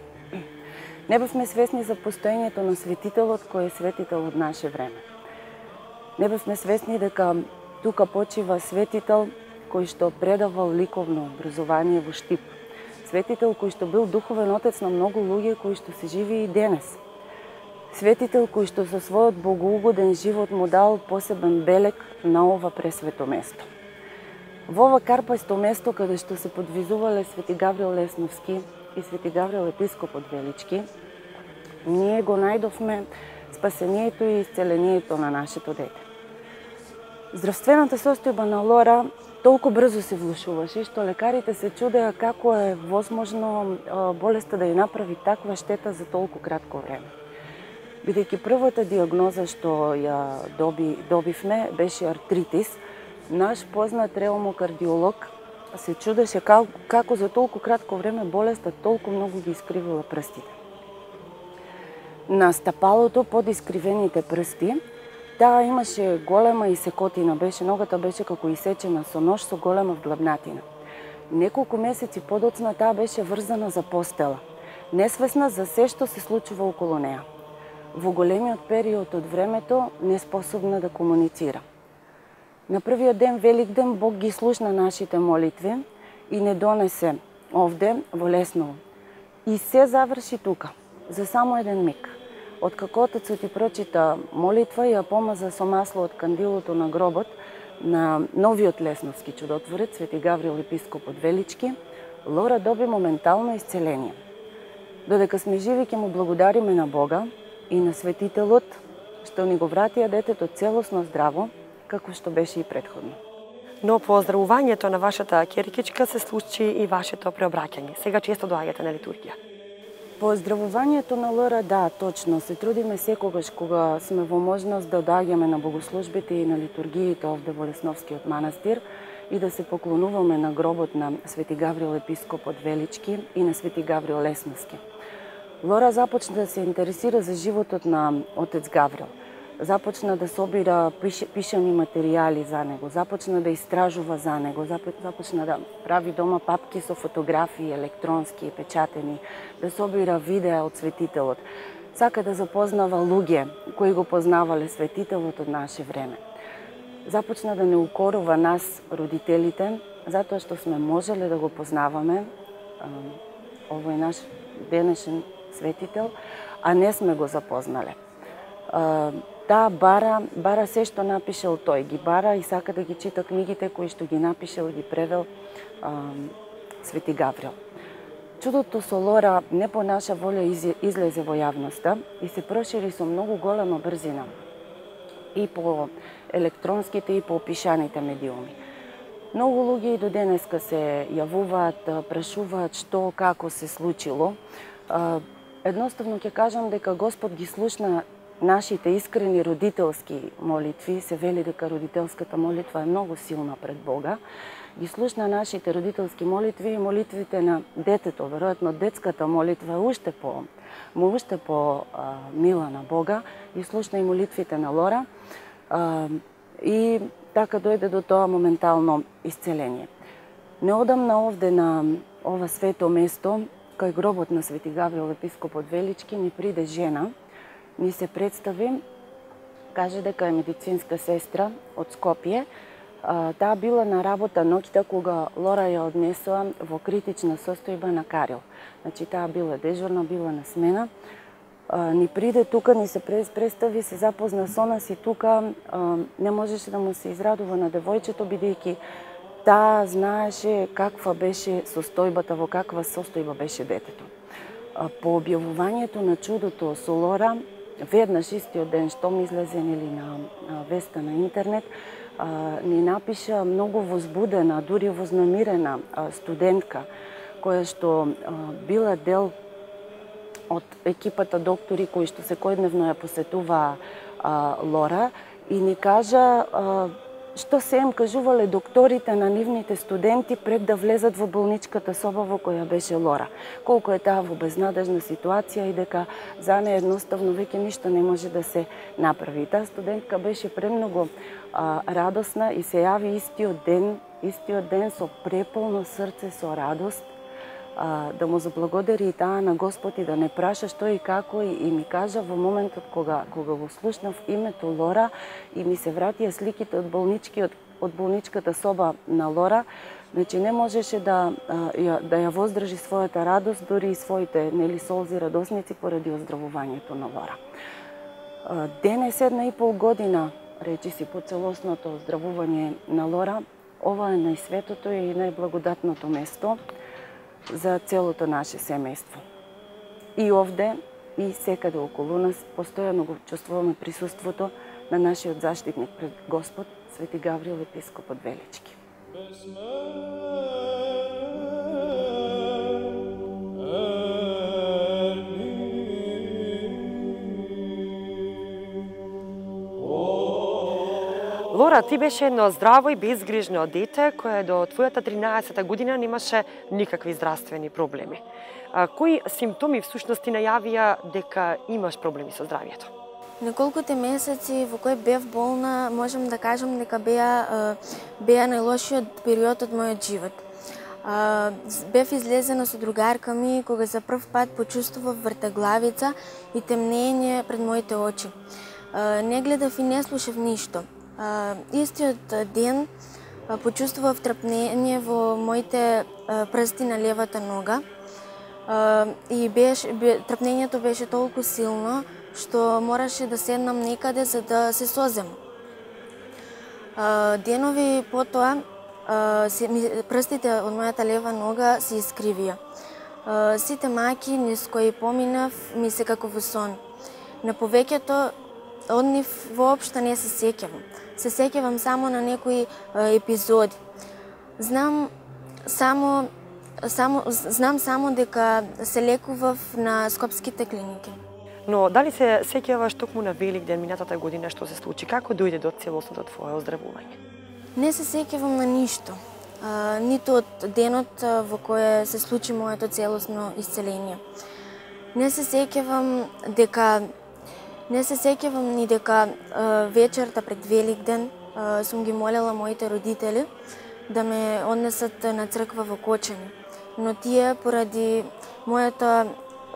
Не бевме свесни за постоењето на светителот кој е светител од наше време. Не бевме свесни дека тука почива светител кој што предавал ликовно образование во Штип. Светител кој што бил духовен отец на многу луѓе кои што се живи и денес. Светител кој што со својот богоугоден живот му дал посебен белег на ова пресвето место. Во ова карпасто место каде што се подвизувале Свети Гаврил Лесновски и Свети Гаврил епископот Велички, ние го најдовме спасението и исцелението на нашето дете. Здравствената состојба на Лора толку брзо се влошуваше, што лекарите се чудеа како е возможно болеста да ја направи таква штета за толку кратко време. Бидејќи првата диагноза што ја добивме беше артритис, наш познат реумокардиолог се чудеше како за толку кратко време болеста толку многу ги искривила прстите. На стапалото под искривените прсти, таа имаше голема исекотина, ногата беше како исечена со нож со голема вглавнатина. Неколку месеци подоцна таа беше врзана за постела, несвесна за се што се случува околу неа. Во големиот период од времето неспособна да комуницира. На првиот ден, Великден, Бог ги слушна нашите молитви и не донесе овде во Лесново. И се заврши тука, за само еден миг. Откако Отецот ти прочита молитва и ја помаза со масло од кандилото на гробот на новиот Лесновски чудотворец, Свети Гаврил епископот Велички, Лора доби моментално исцеление. Додека сме живи ќе му благодариме на Бога и на Светителот што ни го вратија детето целосно здраво, како што беше и претходно. Но по оздравувањето на вашата ќеркичка се случи и вашето преобраќање. Сега често доаѓате на литургија. По оздравувањето на Лора, да, точно, се трудиме секогаш кога сме во можност да доаѓаме на богослужбите и на литургиите овде во Лесновскиот манастир и да се поклонуваме на гробот на Свети Гаврил епископот Велички и на Свети Гаврил Лесновски. Лора започна да се интересира за животот на отец Гаврил. Започна да собира пишани материјали за него, започна да истражува за него, започна да прави дома папки со фотографии, електронски, печатени, да собира видеа од светителот. Сака да запознава луѓе кои го познавале светителот од наше време. Започна да не укорува нас, родителите, затоа што сме можеле да го познаваме, овој наш денешен светител, а не сме го запознале. Таа бара се што напишел тој, ги бара и сака да ги чита книгите кои што ги напишел и ги превел Свети Гаврил. Чудото со Лора не по наша волја излезе во јавноста и се прошири со многу голема брзина и по електронските и по пишаните медиуми. Многу луѓе и до денеска се јавуваат, прашуваат што, како се случило. Едноставно ќе кажам дека Господ ги слушна нашите искрени родителски молитви, се вели дека родителската молитва е многу силна пред Бога, ги слушна нашите родителски молитви и молитвите на детето, веројатно детската молитва е уште по мила на Бога, ги слушна и молитвите на Лора и така дојде до тоа моментално исцеление. Неодамна овде на ова свето место, кај гробот на Свети Гаврил епископот Велички, ни приде жена, ни се представи, каже дека е медицинска сестра од Скопје. Таа била на работа ноќта кога Лора ја однесоа во критична состојба на Карил. Значи таа била дежурна, била на смена. Ни приде тука, ни се представи, се запозна со нас и тука не можеше да му се израдува на девојчето, бидејќи таа знаеше каква беше состојбата, во каква состојба беше детето. По објавувањето на чудото со Лора, веднаш истиот ден штом излезе на веста на интернет, ни напиша многу возбудена, дури вознамирена студентка, која што била дел од екипата доктори кои што секојдневно ја посетуваа Лора и ни кажа што се им кажувале докторите на нивните студенти пред да влезат во болничката соба во која беше Лора. Колку е таа во безнадежна ситуација и дека за неја едноставно веќе ништо не може да се направи. Таа студентка беше премногу радосна и се јави истиот ден со преполно срце, со радост, да му заблагодари и таа на Господ и да не праша што и како и ми кажа во моментот кога го слушнав името Лора и ми се вратија сликите од болничката соба на Лора, значи не можеше да ја воздржи својата радост, дури и своите солзи радосници поради оздравувањето на Лора. Денес 1,5 година, речи си, по целосното оздравување на Лора, ова е најсветото и најблагодатното место за целото наше семејство. И овде, и секаде околу нас, постојано го чувствуваме присуството на нашиот заштитник пред Господ, Свети Гаврил, епископот Велички. Лора, ти беше едно здраво и безгрижно дете кое до твојата 13-та година немаше никакви здравствени проблеми. Кои симптоми всушност ти најавија дека имаш проблеми со здравието? Неколкуте месеци во кои бев болна, можам да кажам дека беа најлошиот период од мојот живот. Бев излезена со другарка ми кога за прв пат почувствував вртеглавица и темнење пред моите очи. Не гледав и не слушав ништо. Истиот ден почувствував трпнење во моите прсти на левата нога и трпнењето беше толку силно што мораше да седнам некаде за да се созем. Денови потоа прстите од мојата лева нога се искривија. Сите маки низ кои поминав ми се како во сон. На повеќето од нив воопшто не се сеќавам. Се сеќавам само на некои епизоди. Знам само дека се лекував на скопските клиники. Но дали се сеќаваш токму на Великден минатата година што се случи? Како дојде до целосното твое оздравување? Не се сеќавам на ништо. Ниту од денот во кој се случи моето целосно исцеление. Не се сеќавам ни дека вечерта пред Великден сум ги молела моите родители да ме однесат на црква во Кочани. Но тие, поради мојата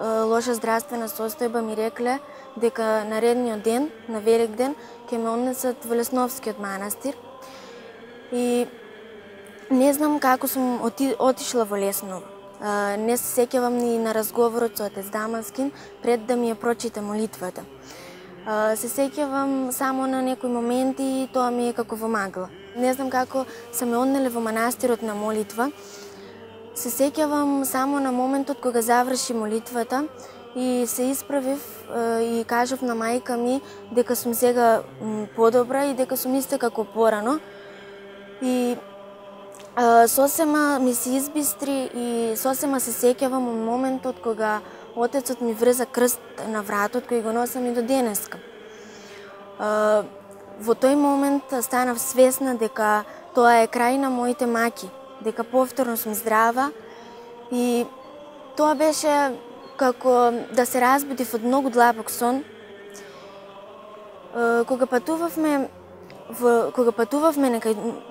лоша здравствена состојба, ми рекле дека наредниот ден, на Великден, ќе ме однесат во Лесновскиот манастир. И не знам како сум отишла во Лесново. Не се сеќавам ни на разговорот со отец Дамаскин пред да ми ја прочита молитвата. Се сеќавам само на некои моменти и тоа ми е како во магла. Не знам како се ме однеле во манастирот на молитва. Се сеќавам само на моментот кога заврши молитвата и се исправив и кажав на мајка ми дека сум сега подобра и дека сум иста како порано. И сосема ми се избистри и сосема се сеќавам од моментот кога отецот ми врза крст на вратот кој го носам и до денеска. Во тој момент станав свесна дека тоа е крај на моите маки, дека повторно сум здрава и тоа беше како да се разбудив од многу длабок сон. Кога патувавме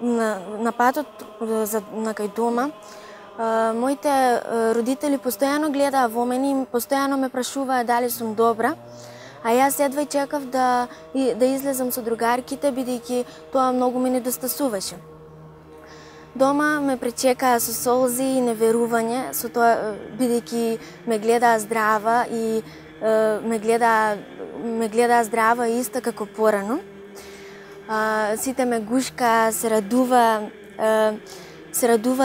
на патот на кај дома, моите родители постојано гледаа во мене и постојано ме прашуваа дали сум добра, а јас едва чекав да излезам со другарките, бидејќи тоа многу ме недостасуваше. Дома ме пречекаа со солзи и неверување, со тоа бидејќи ме гледаа здрава и ме гледаа здрава и иста како порано. Сите ме гушкаа, се радува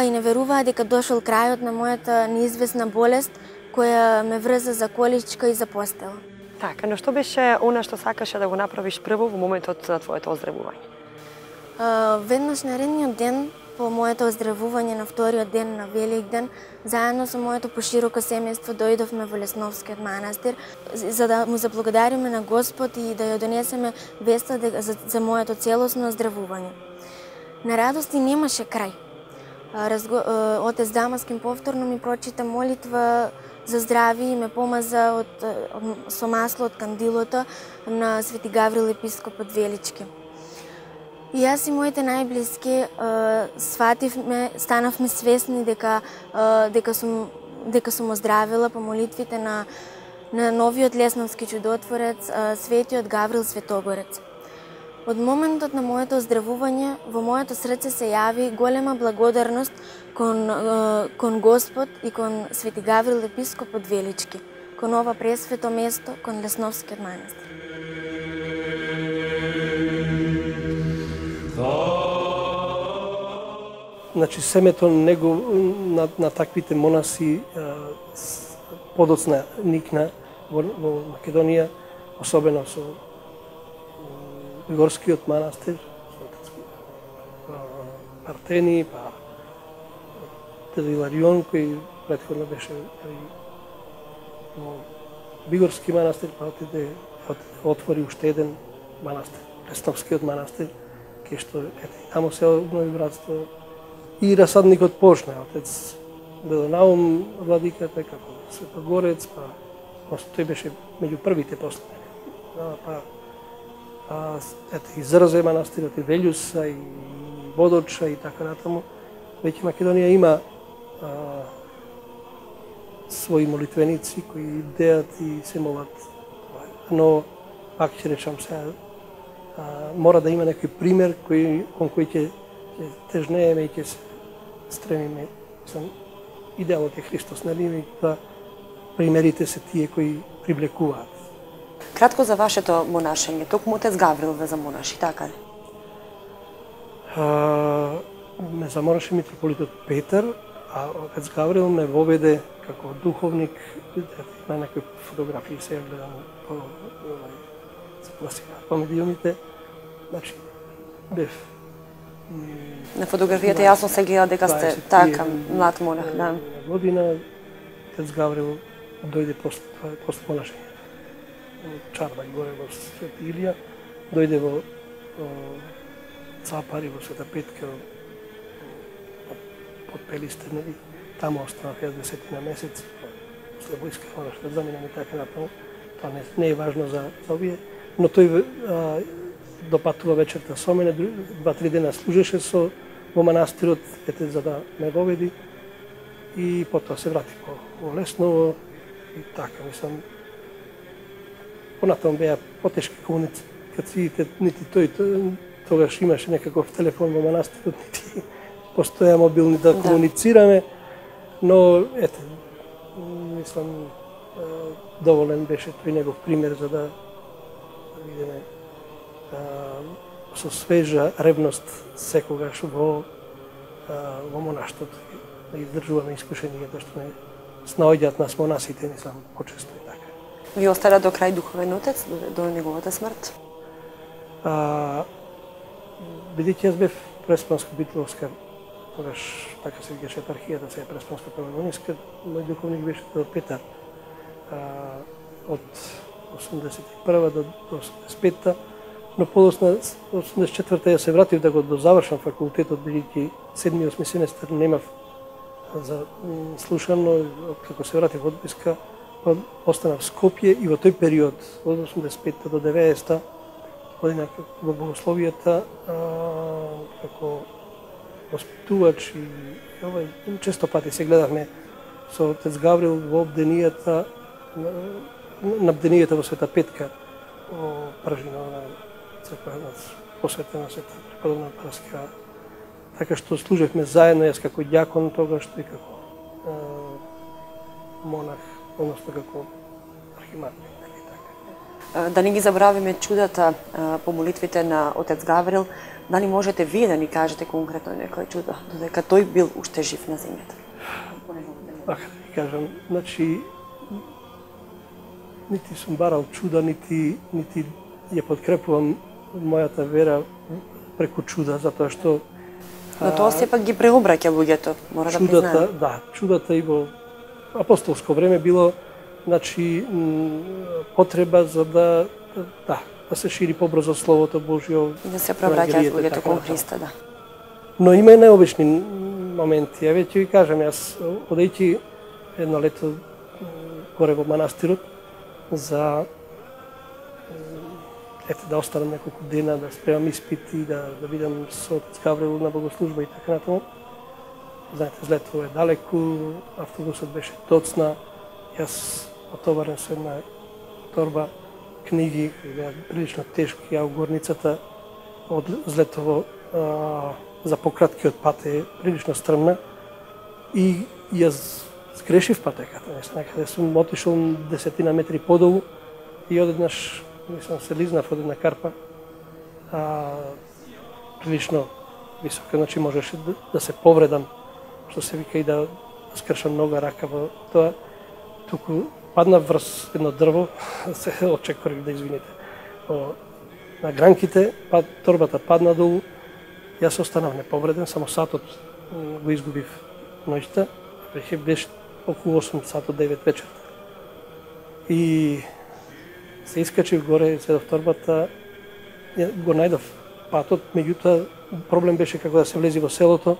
и не веруваа дека дошол крајот на мојата неизвестна болест која ме врза за количка и за постела. Така, но што беше она што сакаше да го направиш прво во моментот на твоето оздравување? Веднаш наредниот ден по моето оздравување, на вториот ден на Великден, заедно со моето пошироко семејство дојдовме во Лесновскиот манастир за да му заблагодариме на Господ и да ја донесеме веста за моето целосно оздравување. На радости немаше крај. Отец Дамаскин повторно ми прочита молитва за здрави и ме помаза со масло од кандилото на Свети Гаврил, епископот Велички. И јас и моите најблиски станавме свесни дека сум оздравила по молитвите на новиот лесновски чудотворец, светиот Гаврил Светогорец. Од моментот на моето оздравување, во моето срце се јави голема благодарност кон Господ и кон Свети Гаврил, епископот Велички, кон ова пресвето место, кон Лесновскиот манастир. Значи, семето на таквите монаси подоцна никна во Македонија, особено со Горскиот манастир, Партени, па Дед Иларион, кој претходно беше во Бигорски манастир, па отвори уште еден манастир, Пресновскиот манастир, кај што тамо се обнови братство и расадникот почна, отец Белонаум владиката, како Светогорец, па тој беше меѓу првите после. И Зрзе манастирот, и Велјуса, и Водоча и така натаму. Веќе Македонија има своји молитвеници кои бдеат и се молат. Но, пак ќе речам сега, мора да има некој пример кон кој ќе тежнееме и ќе се стремиме. Идеалот е Христос, нели? Да примерите се тие кои привлекуваат. Кратко за вашето монашење, токму отец Гаврил ве замонаши, така ли? Ме замонаши митрополитот Петар, а отец Гаврил ме воведе како духовник. На некои фотографии се гледам по медиумите. Значи, бев. На фотографијата јасно се гледа дека сте така млад монах, да. Година отец Гаврил дојде после монашење. Чарбак горе во Свети Илија, дојде во Цапари, во Света Петка, под Пелисте, нели? Таму останав 10 месеци, после војска мораш да заминам и така натаму. Тоа не е важно за овие, но тој допатува вечерта со мене, 2-3 дена служеше во манастирот, за да ме воведи и потоа се врати во Лесново и така, мислам. Понатаму беа потешки комуникациите, нити тој тогаш имаше некаков телефон во манастирот, нити постоја мобилни да комуницираме, но ете, мислам, доволен беше тој негов пример за да видиме со свежа ревност секогаш во монаштото да издржуваме искушенијата што не снаоѓаат нас монасите, мислам, почесто и така. Ви остара до крај духовен отец, до неговата смрт? Бидејќи јас бев Преспанско-Битоловска, тогаш така се викаше епархијата, сега Преспанско-Пелагониска, мој духовник беше до Петар. Од 81 до 85-та, но подоцна 84-та ја се вратив да го дозавршам факултетот, бидејќи 7-8 семестар немав за слушано, како се вратив од войска, останав в Скопје и во тој период, од 85 до 90 година во богословијата, како воспитувач и често пати се гледавме со отец Гаврил во бденијата, на бденијата во Света Петка, во Пражино, на црква посветена Света Преподобна Параскева. Така што служевме заедно, јас како ѓакон тогаш и како монах, односно како архимандрит. Да не ги забравиме чудата по молитвите на отец Гаврил, дали можете вие да ни кажете конкретно некој чудо, додека тој бил уште жив на земјата? Да кажам, значи, нити сум барал чуда, нити ја подкрепувам мојата вера преку чуда, затоа што Но тоа сепак ги преобраќа луѓето, мора да признаеме. Да, чудата и во апостолско време било, значи, потреба за да се шири побрзо Словото Божјо. Да се преобраќаат луѓето кон Христа, да. Но има и необични моменти. Ја веќе ви кажам, јас одејќи едно лето горе во манастирот за да останам неколку дена, да спремам испити, да видам со отец Гаврил на богослужба и така натаму. Знаете, Злетово е далеку, автобусот беше доцна, јас отоварен со една торба книги, кои беа прилично тешки, а у горницата од Злетово за пократкиот пат е прилично стрмна и јас сгрешив патеката. Некаде сум отишол 10 метри подолу и одеднаш се лизнав од една карпа, прилично висока, значи можеше да се повредам, што се вика и да скршам нога, рака во тоа. Туку падна врз едно дрво, се очекорих да извините. На гранките, торбата падна долу, јас останав неповреден, само сатот го изгубив ноќта, беше околу 8 сатот 9 вечерта. И се искачив горе, седов торбата, го најдов патот, меѓутоа проблем беше како да се влези во селото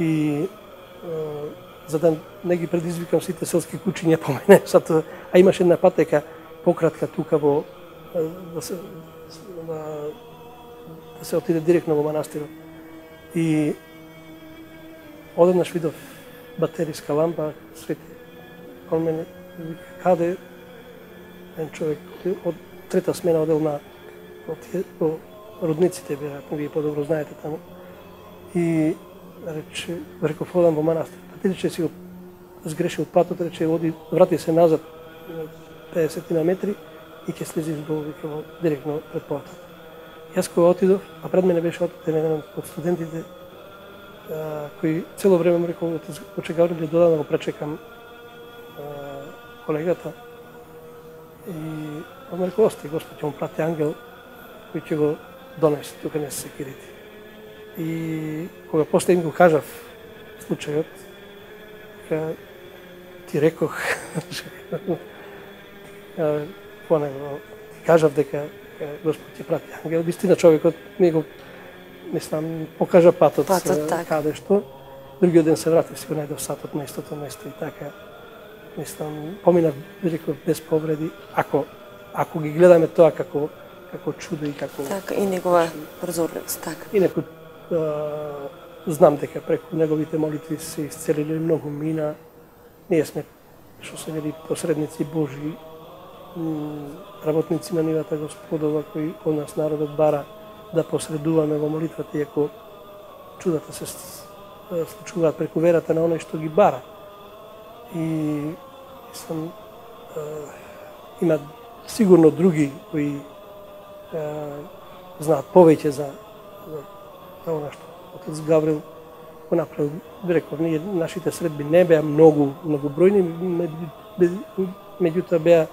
и за да не ги предизвикам сите селски куќиња по мене, а имаше една патека пократка тука во да се отиде директно во манастирот. И одеднаш видов батериска лампа, свети. Кон мене вика, каде еден човек од трета смена одел на родниците, веројатно вие подобро знаете таму. И рече, реков, одам во манастир. Рече, си го сгрешил патот, рече, оди, врати се назад 50 на метри и ќе слезиш долу, вика, директно пред портата. Јас кога отидов, а пред мене беше отиден еден од студентите, кој цело време му рекол, отец Гавриле, дода да го пречекам колегата. И он ме рекол, ости, Господ ќе му прати ангел, кој ќе го донесе, тука не се секирите. И кога после им го кажав случајот, ти рекох, ти кажав дека Господ ќе прати ангел. Вистина човекот ми го, мислам, покажа патот каде што. Другиот ден се вратив, си го најдов сатот на истото место и така. Мислам, поминав, реков, без повреди, ако ги гледаме тоа како чудо и како... Така, и негова прозорливост, така. И некој, знам дека преку неговите молитви се исцелили многу мина. Ние сме, што се вели, посредници Божи, работници на нивата Господова, кои од нас народот бара да посредуваме во молитвата, иако чудата се случуваат преку верата на оној што ги бара. И мислам, има сигурно други кои знаат повеќе за она што отец Гаврил го направил. Реков, ние нашите средби не беа многу бројни, меѓутоа беа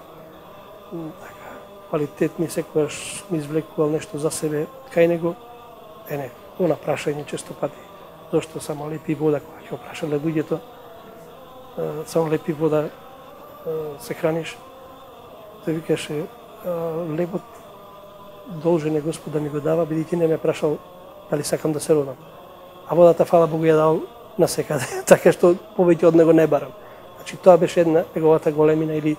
квалитетни, секојаш ми извлекувал нешто за себе кај него. Она прашање често пати, зошто само лепи вода, кога ќе опрашале луѓето, само лепи вода се храниш. Тој викаше, лепот должен е Господ да ми го дава, бидејќи не ме прашал дали сакам да се родам. А водата, фала Богу, ја дал насекаде, така што повеќе од него не барам. Значи, тоа беше една неговата големина или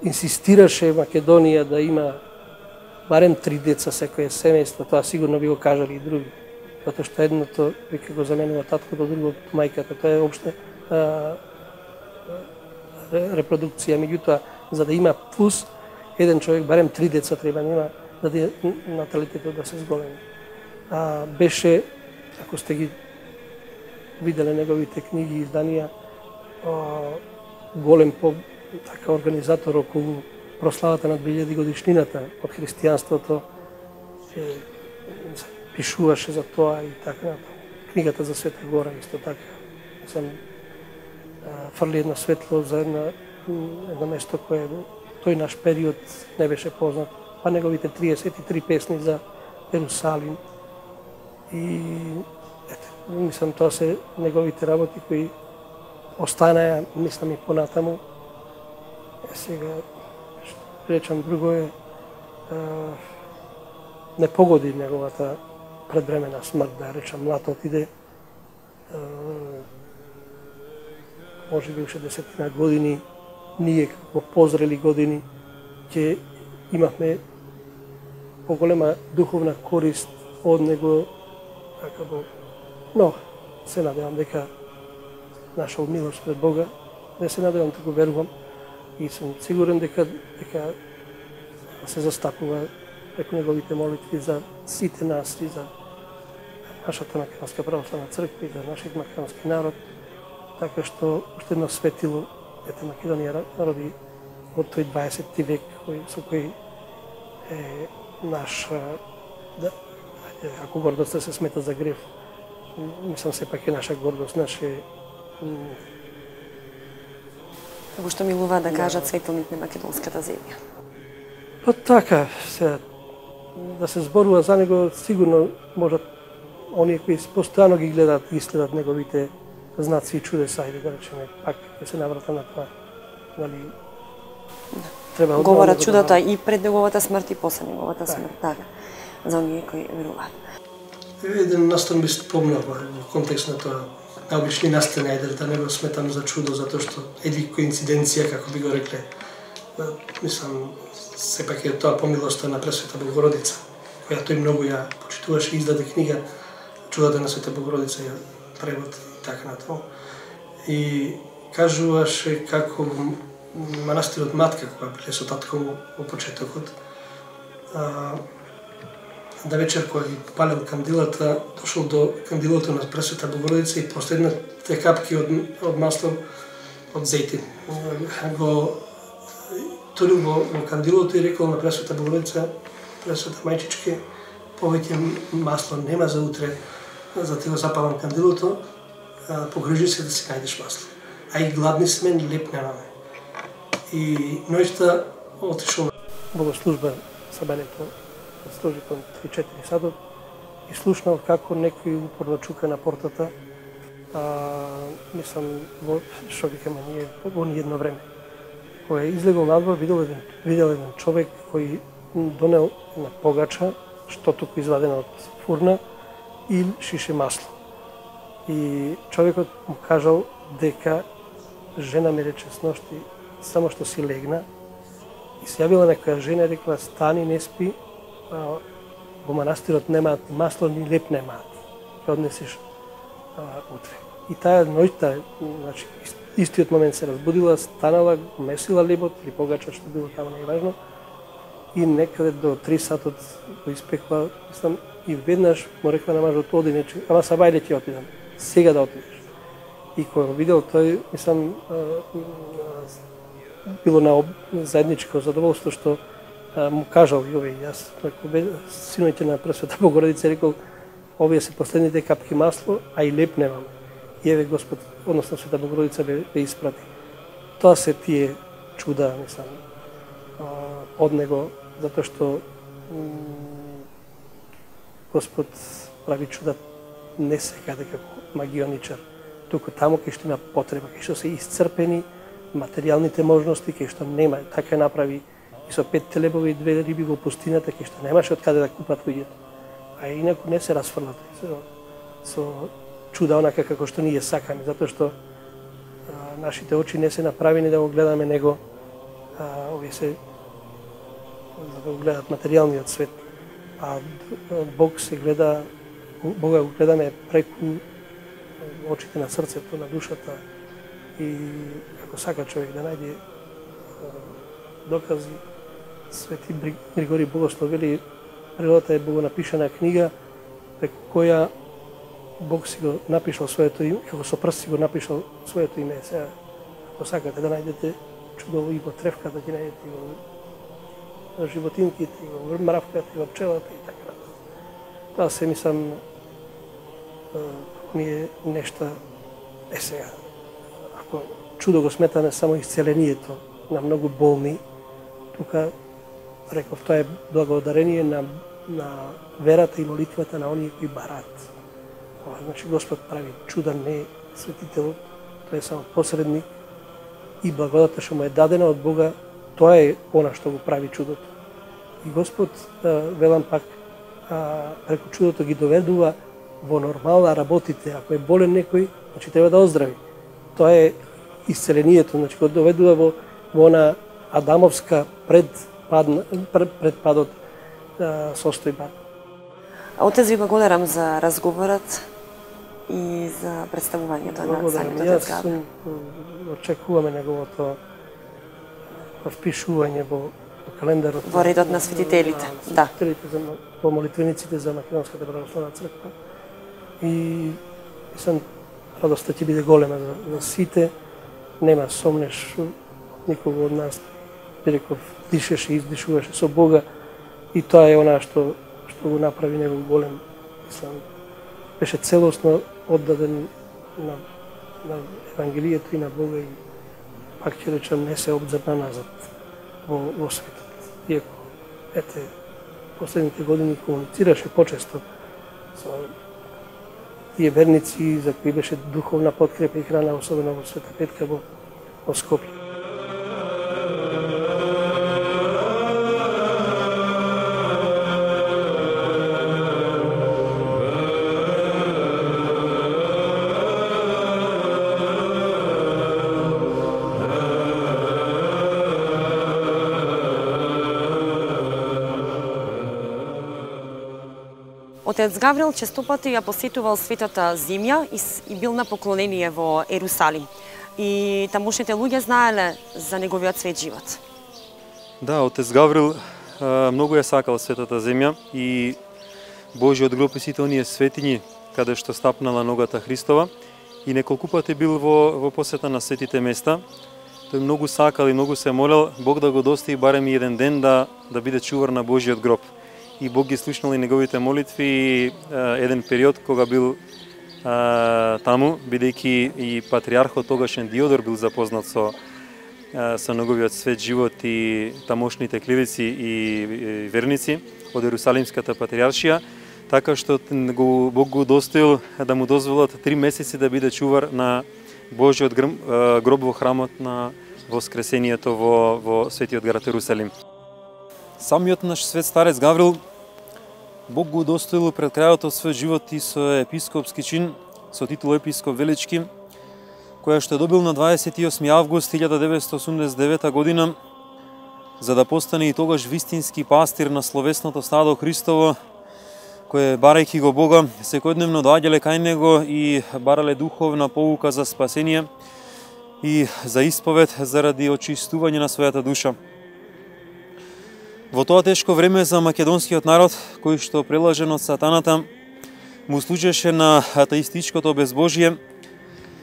инсистираше Македонија да има барем 3 деца секој семејство, тоа сигурно би го кажали и други. Затоа што едното вика го заменува таткото, другото мајката, тоа е општа репродукција. Меѓутоа, за да има плюс, еден човек барем 3 деца треба да има, за да наталитетот да се зголеми. Беше, ако сте ги виделе неговите книги и изданија, голем така организатор околу прославата на 2000 годишнината од христијанството, пишуваше за тоа и така. Книгата за Света Гора исто така. Фрли едно светло за едно место кое тој наш период не беше познат. Па неговите 33 песни за Ерусалим. И мислам, тоа се неговите работи кои останаја, мислам, и понатаму. Сега, речам, друго е, не погоди неговата предвремена смрт, да речам, млад отиде. Може би уште 10 години, ние како позрели години, ќе имавме поголема духовна корист од него, но се надевам дека нашол милост пред Бога, не се надевам, тако верувам и сум сигурен дека се застапува преку неговите молитви за сите нас и за нашата Македонска православна црква и за нашиот македонски народ, така што уште едно светило Македонија роди од тој 20 век со кој наш, ако гордоста се смета за грев, мислам сепак е наша гордост, наше... Како што милува да кажат светилник на македонската земја. Па така, да се зборува за него, сигурно можат оние кои постојано ги следат неговите знаци и чудеса, ајде да речеме, пак ќе се наврата на тоа. Нали, треба говорат чудата и пред неговата смрт и после неговата смрт, така, за оние кои веруваат. Еден настан би спомнал во контекст на тоа, наобични настани, ајде да не го сметам за чудо, затоа што едни коинциденција, како би го рекле, мислам, сепак е тоа помилоста на Пресвета Богородица, која тој многу ја почитуваше и издаде книга Чудата на Света Богородица, ја превод и така натаму. И кажуваше како манастирот Матка, кога биле со татко му во почетокот, да вечер кога ги палел кандилата, дошол до кандилото на Пресвета Богородица и последните капки од масло од зејтин. Го турил во кандилото и рекол на Пресвета Богородица, Пресвета мајчичке, повеќе масло нема за утре, за ти го запалам кандилото, погрижи се да си најдеш масло. А и гладни сме, леп немаме. И ноќта отишол на богослужба сабањето, служи кон 3-4 сатот и слушнал како некој упорно чука на портата, мислам, што викаме ние, во едно време. Кога излегол надвор, видел еден човек кој донел на погача, што туку извадено од фурна, и шише масло. И човекот му кажал дека жена ми рече сношти, само што си легна, и се јавила некоја жена и рекла, стани, не спи, во манастирот немаат масло, ни леп немаат. Ќе однесеш утре. И таа ноќта, значи, истиот момент се разбудила, станала, месила лебот или погача, што било таму, не е важно, и некаде до 3 сатот го испекла, мислам, и веднаш му рекла на мажот, оди нече, ама сабајле ќе отидам, сега да отидеш. И кога го видел тој, мислам, било на заедничко задоволство што му кажал и овие, јас, синоите на Пресвета Богородица, рекол, овие се последните капки масло, а и леп немам. И еве Господ, односно Света Богородица ве испрати. Тоа се тие чуда, мислам, од него, затоа што Господ прави чуда не секаде како магионичар, туку таму кај што има потреба, кај што се исцрпени материјалните можности, кај што нема, така направи и со 5 телебови и 2 риби во пустината, кај што немаше од каде да купат луѓето. А инаку не се расфрлат со чуда онака како што ние сакаме, затоа што нашите очи не се направени да го гледаме него, овие се за да го гледат материјалниот свет. А Бог се гледа, Бога го гледаме преку очите на срцето, на душата, и ако сака човек да најде докази, Свети Григорий Богослов вели, природата е богонапишана книга преку која Бог си го напишал своето име, како со прст си го напишал своето име. Сега, ако сакате да најдете чудово и во тревката, ќе најдете и во животинките, и во мравката, и во пчелата и така. Тоа се, мислам, ние нешта е сега. Ако чудо го сметаме само исцелението на многу болни, тука, реков, тоа е благодарение на верата и молитвата на оние кои барат. Значи Господ прави чуда, не светителот, тој е само посредник и благодата што му е дадена од Бога, тоа е она што го прави чудото. И Господ, велам пак, преку чудото ги доведува во нормална работите. Ако е болен некој, значи треба да оздрави. Тоа е исцелението, значи го доведува во она адамовска предпадот состојба. Отец, ви благодарам за разговорот и за представувањето на самиот Отец Гаврил. Очекуваме неговото впишување во календарот. Во редот на светителите, да. Во молитвениците за Македонската православна црква. И мислам, радоста ќе биде голема за сите. Нема сомнеш никого од нас, би реков, дишеше и издишуваше со Бога И тоа е она што го направи негов голем ислам. Беше целосно оддаден на Евангелието и на Бога и пак ќе речам не се обзрна назад во светот. Иако, последните години комуницираше почесто со тие верници за кои беше духовна подкрепа и храна, особено во Света Петка во Скопје. Отец Гаврил честопати ја посетувал Светата земја и бил на поклонение во Ерусалим. И тамошните луѓе знаеле за неговиот свет живот. Да, отец Гаврил многу ја сакал Светата земја и Божиот гроб и сите оние светињи каде што стапнала ногата Христова и неколку пати бил во посета на светите места. Тој многу сакал и многу се молел Бог да го достои барем и еден ден да биде чувар на Божиот гроб. И Бог ги слушнал и неговите молитви и еден период кога бил таму, бидејќи и патриархот тогашен Диодор бил запознат со неговиот свет живот и тамошните клирици и верници од Ерусалимската патриаршија, така што Бог го достоил да му дозволат 3 месеци да биде чувар на Божиот гроб во храмот на Воскресението во светиот град Ерусалим. Самиот наш свет старец Гаврил, Бог го удостоил пред крајот од својот живот и со епископски чин, со титула епископ Велички, која што е добил на 28 август 1989 година, за да постане и тогаш вистински пастир на словесното стадо Христово, кое, барајќи го Бога, секојдневно доаѓале кај него и барале духовна поука за спасение и за исповед заради очистување на својата душа. Во тоа тешко време за македонскиот народ, кој што прелажен од сатаната, му служеше на атеистичкото безбожие,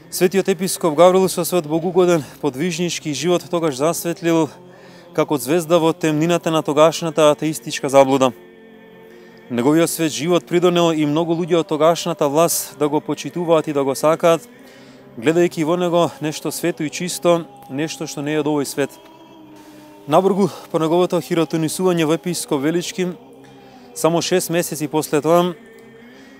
светиот епископ Гаврил со својот богугоден подвижнички живот тогаш засветлил како звезда во темнината на тогашната атеистичка заблуда. Неговиот свет живот придонел и многу луѓе од тогашната власт да го почитуваат и да го сакаат, гледајќи во него нешто свето и чисто, нешто што не е од овој свет. Набргу по неговото хиротонисување во епископ Велички, само 6 месеци после тоа,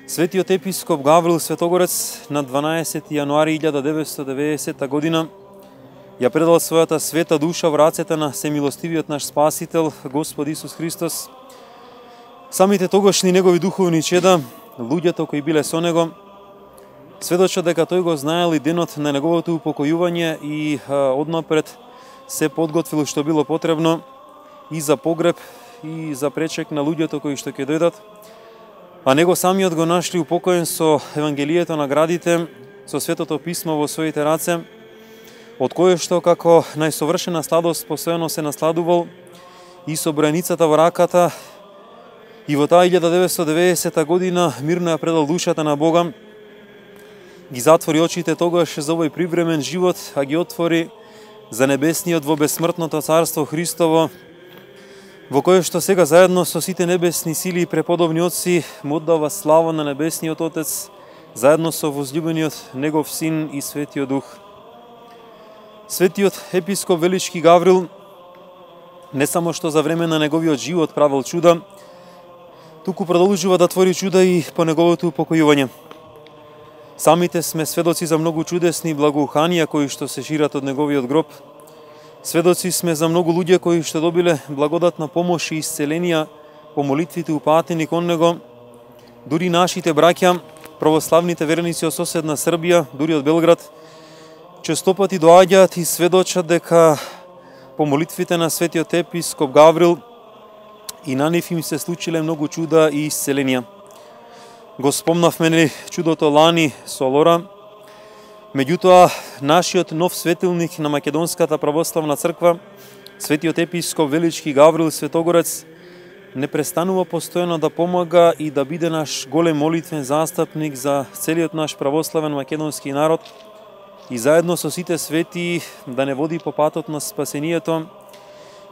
светиот епископ Гаврил Светогорец на 12 јануари 1990 година ја предал својата света душа во рацете на семилостивиот наш Спасител, Господ Исус Христос. Самите тогашни негови духовни чеда, луѓето кои биле со него, сведочат дека тој го знаел и денот на неговото упокојување и однапред се подготвил што било потребно и за погреб и за пречек на луѓето кои што ќе дојдат, а него самиот го нашли упокоен со Евангелието на градите, со Светото писмо во своите раце, од кое што како најсовршена сладост постојано се насладувал и со бројницата во раката, и во таа 1990 година мирно ја предал душата на Бога, ги затвори очите тогаш за овој привремен живот, а ги отвори за небесниот во бесмртното царство Христово, во кое што сега заедно со сите небесни сили и преподобни отци му оддава слава на небесниот Отец, заедно со возлюбениот негов Син и Светиот Дух. Светиот епископ Велички Гаврил не само што за време на неговиот живот правил чуда, туку продолжува да твори чуда и по неговото упокојување. Самите сме сведоци за многу чудесни благоуханија кои што се шират од неговиот гроб. Сведоци сме за многу луѓе кои што добиле благодатна помош и исцеленија по молитвите упатени кон него. Дури нашите браќа, православните верници од соседна Србија, дури од Белград, честопати доаѓаат и сведочат дека по молитвите на светиот епископ Гаврил и на нив им се случиле многу чуда и исцеленија. Го спомнавме чудото лани со Лора. Меѓутоа, нашиот нов светилник на Македонската православна црква, светиот епископ Велички Гаврил Светогорец, не престанува постојано да помага и да биде наш голем молитвен застапник за целиот наш православен македонски народ и заедно со сите свети да не води по патот на спасението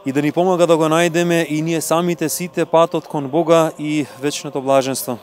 и да ни помага да го најдеме и ние самите сите патот кон Бога и вечното блаженство.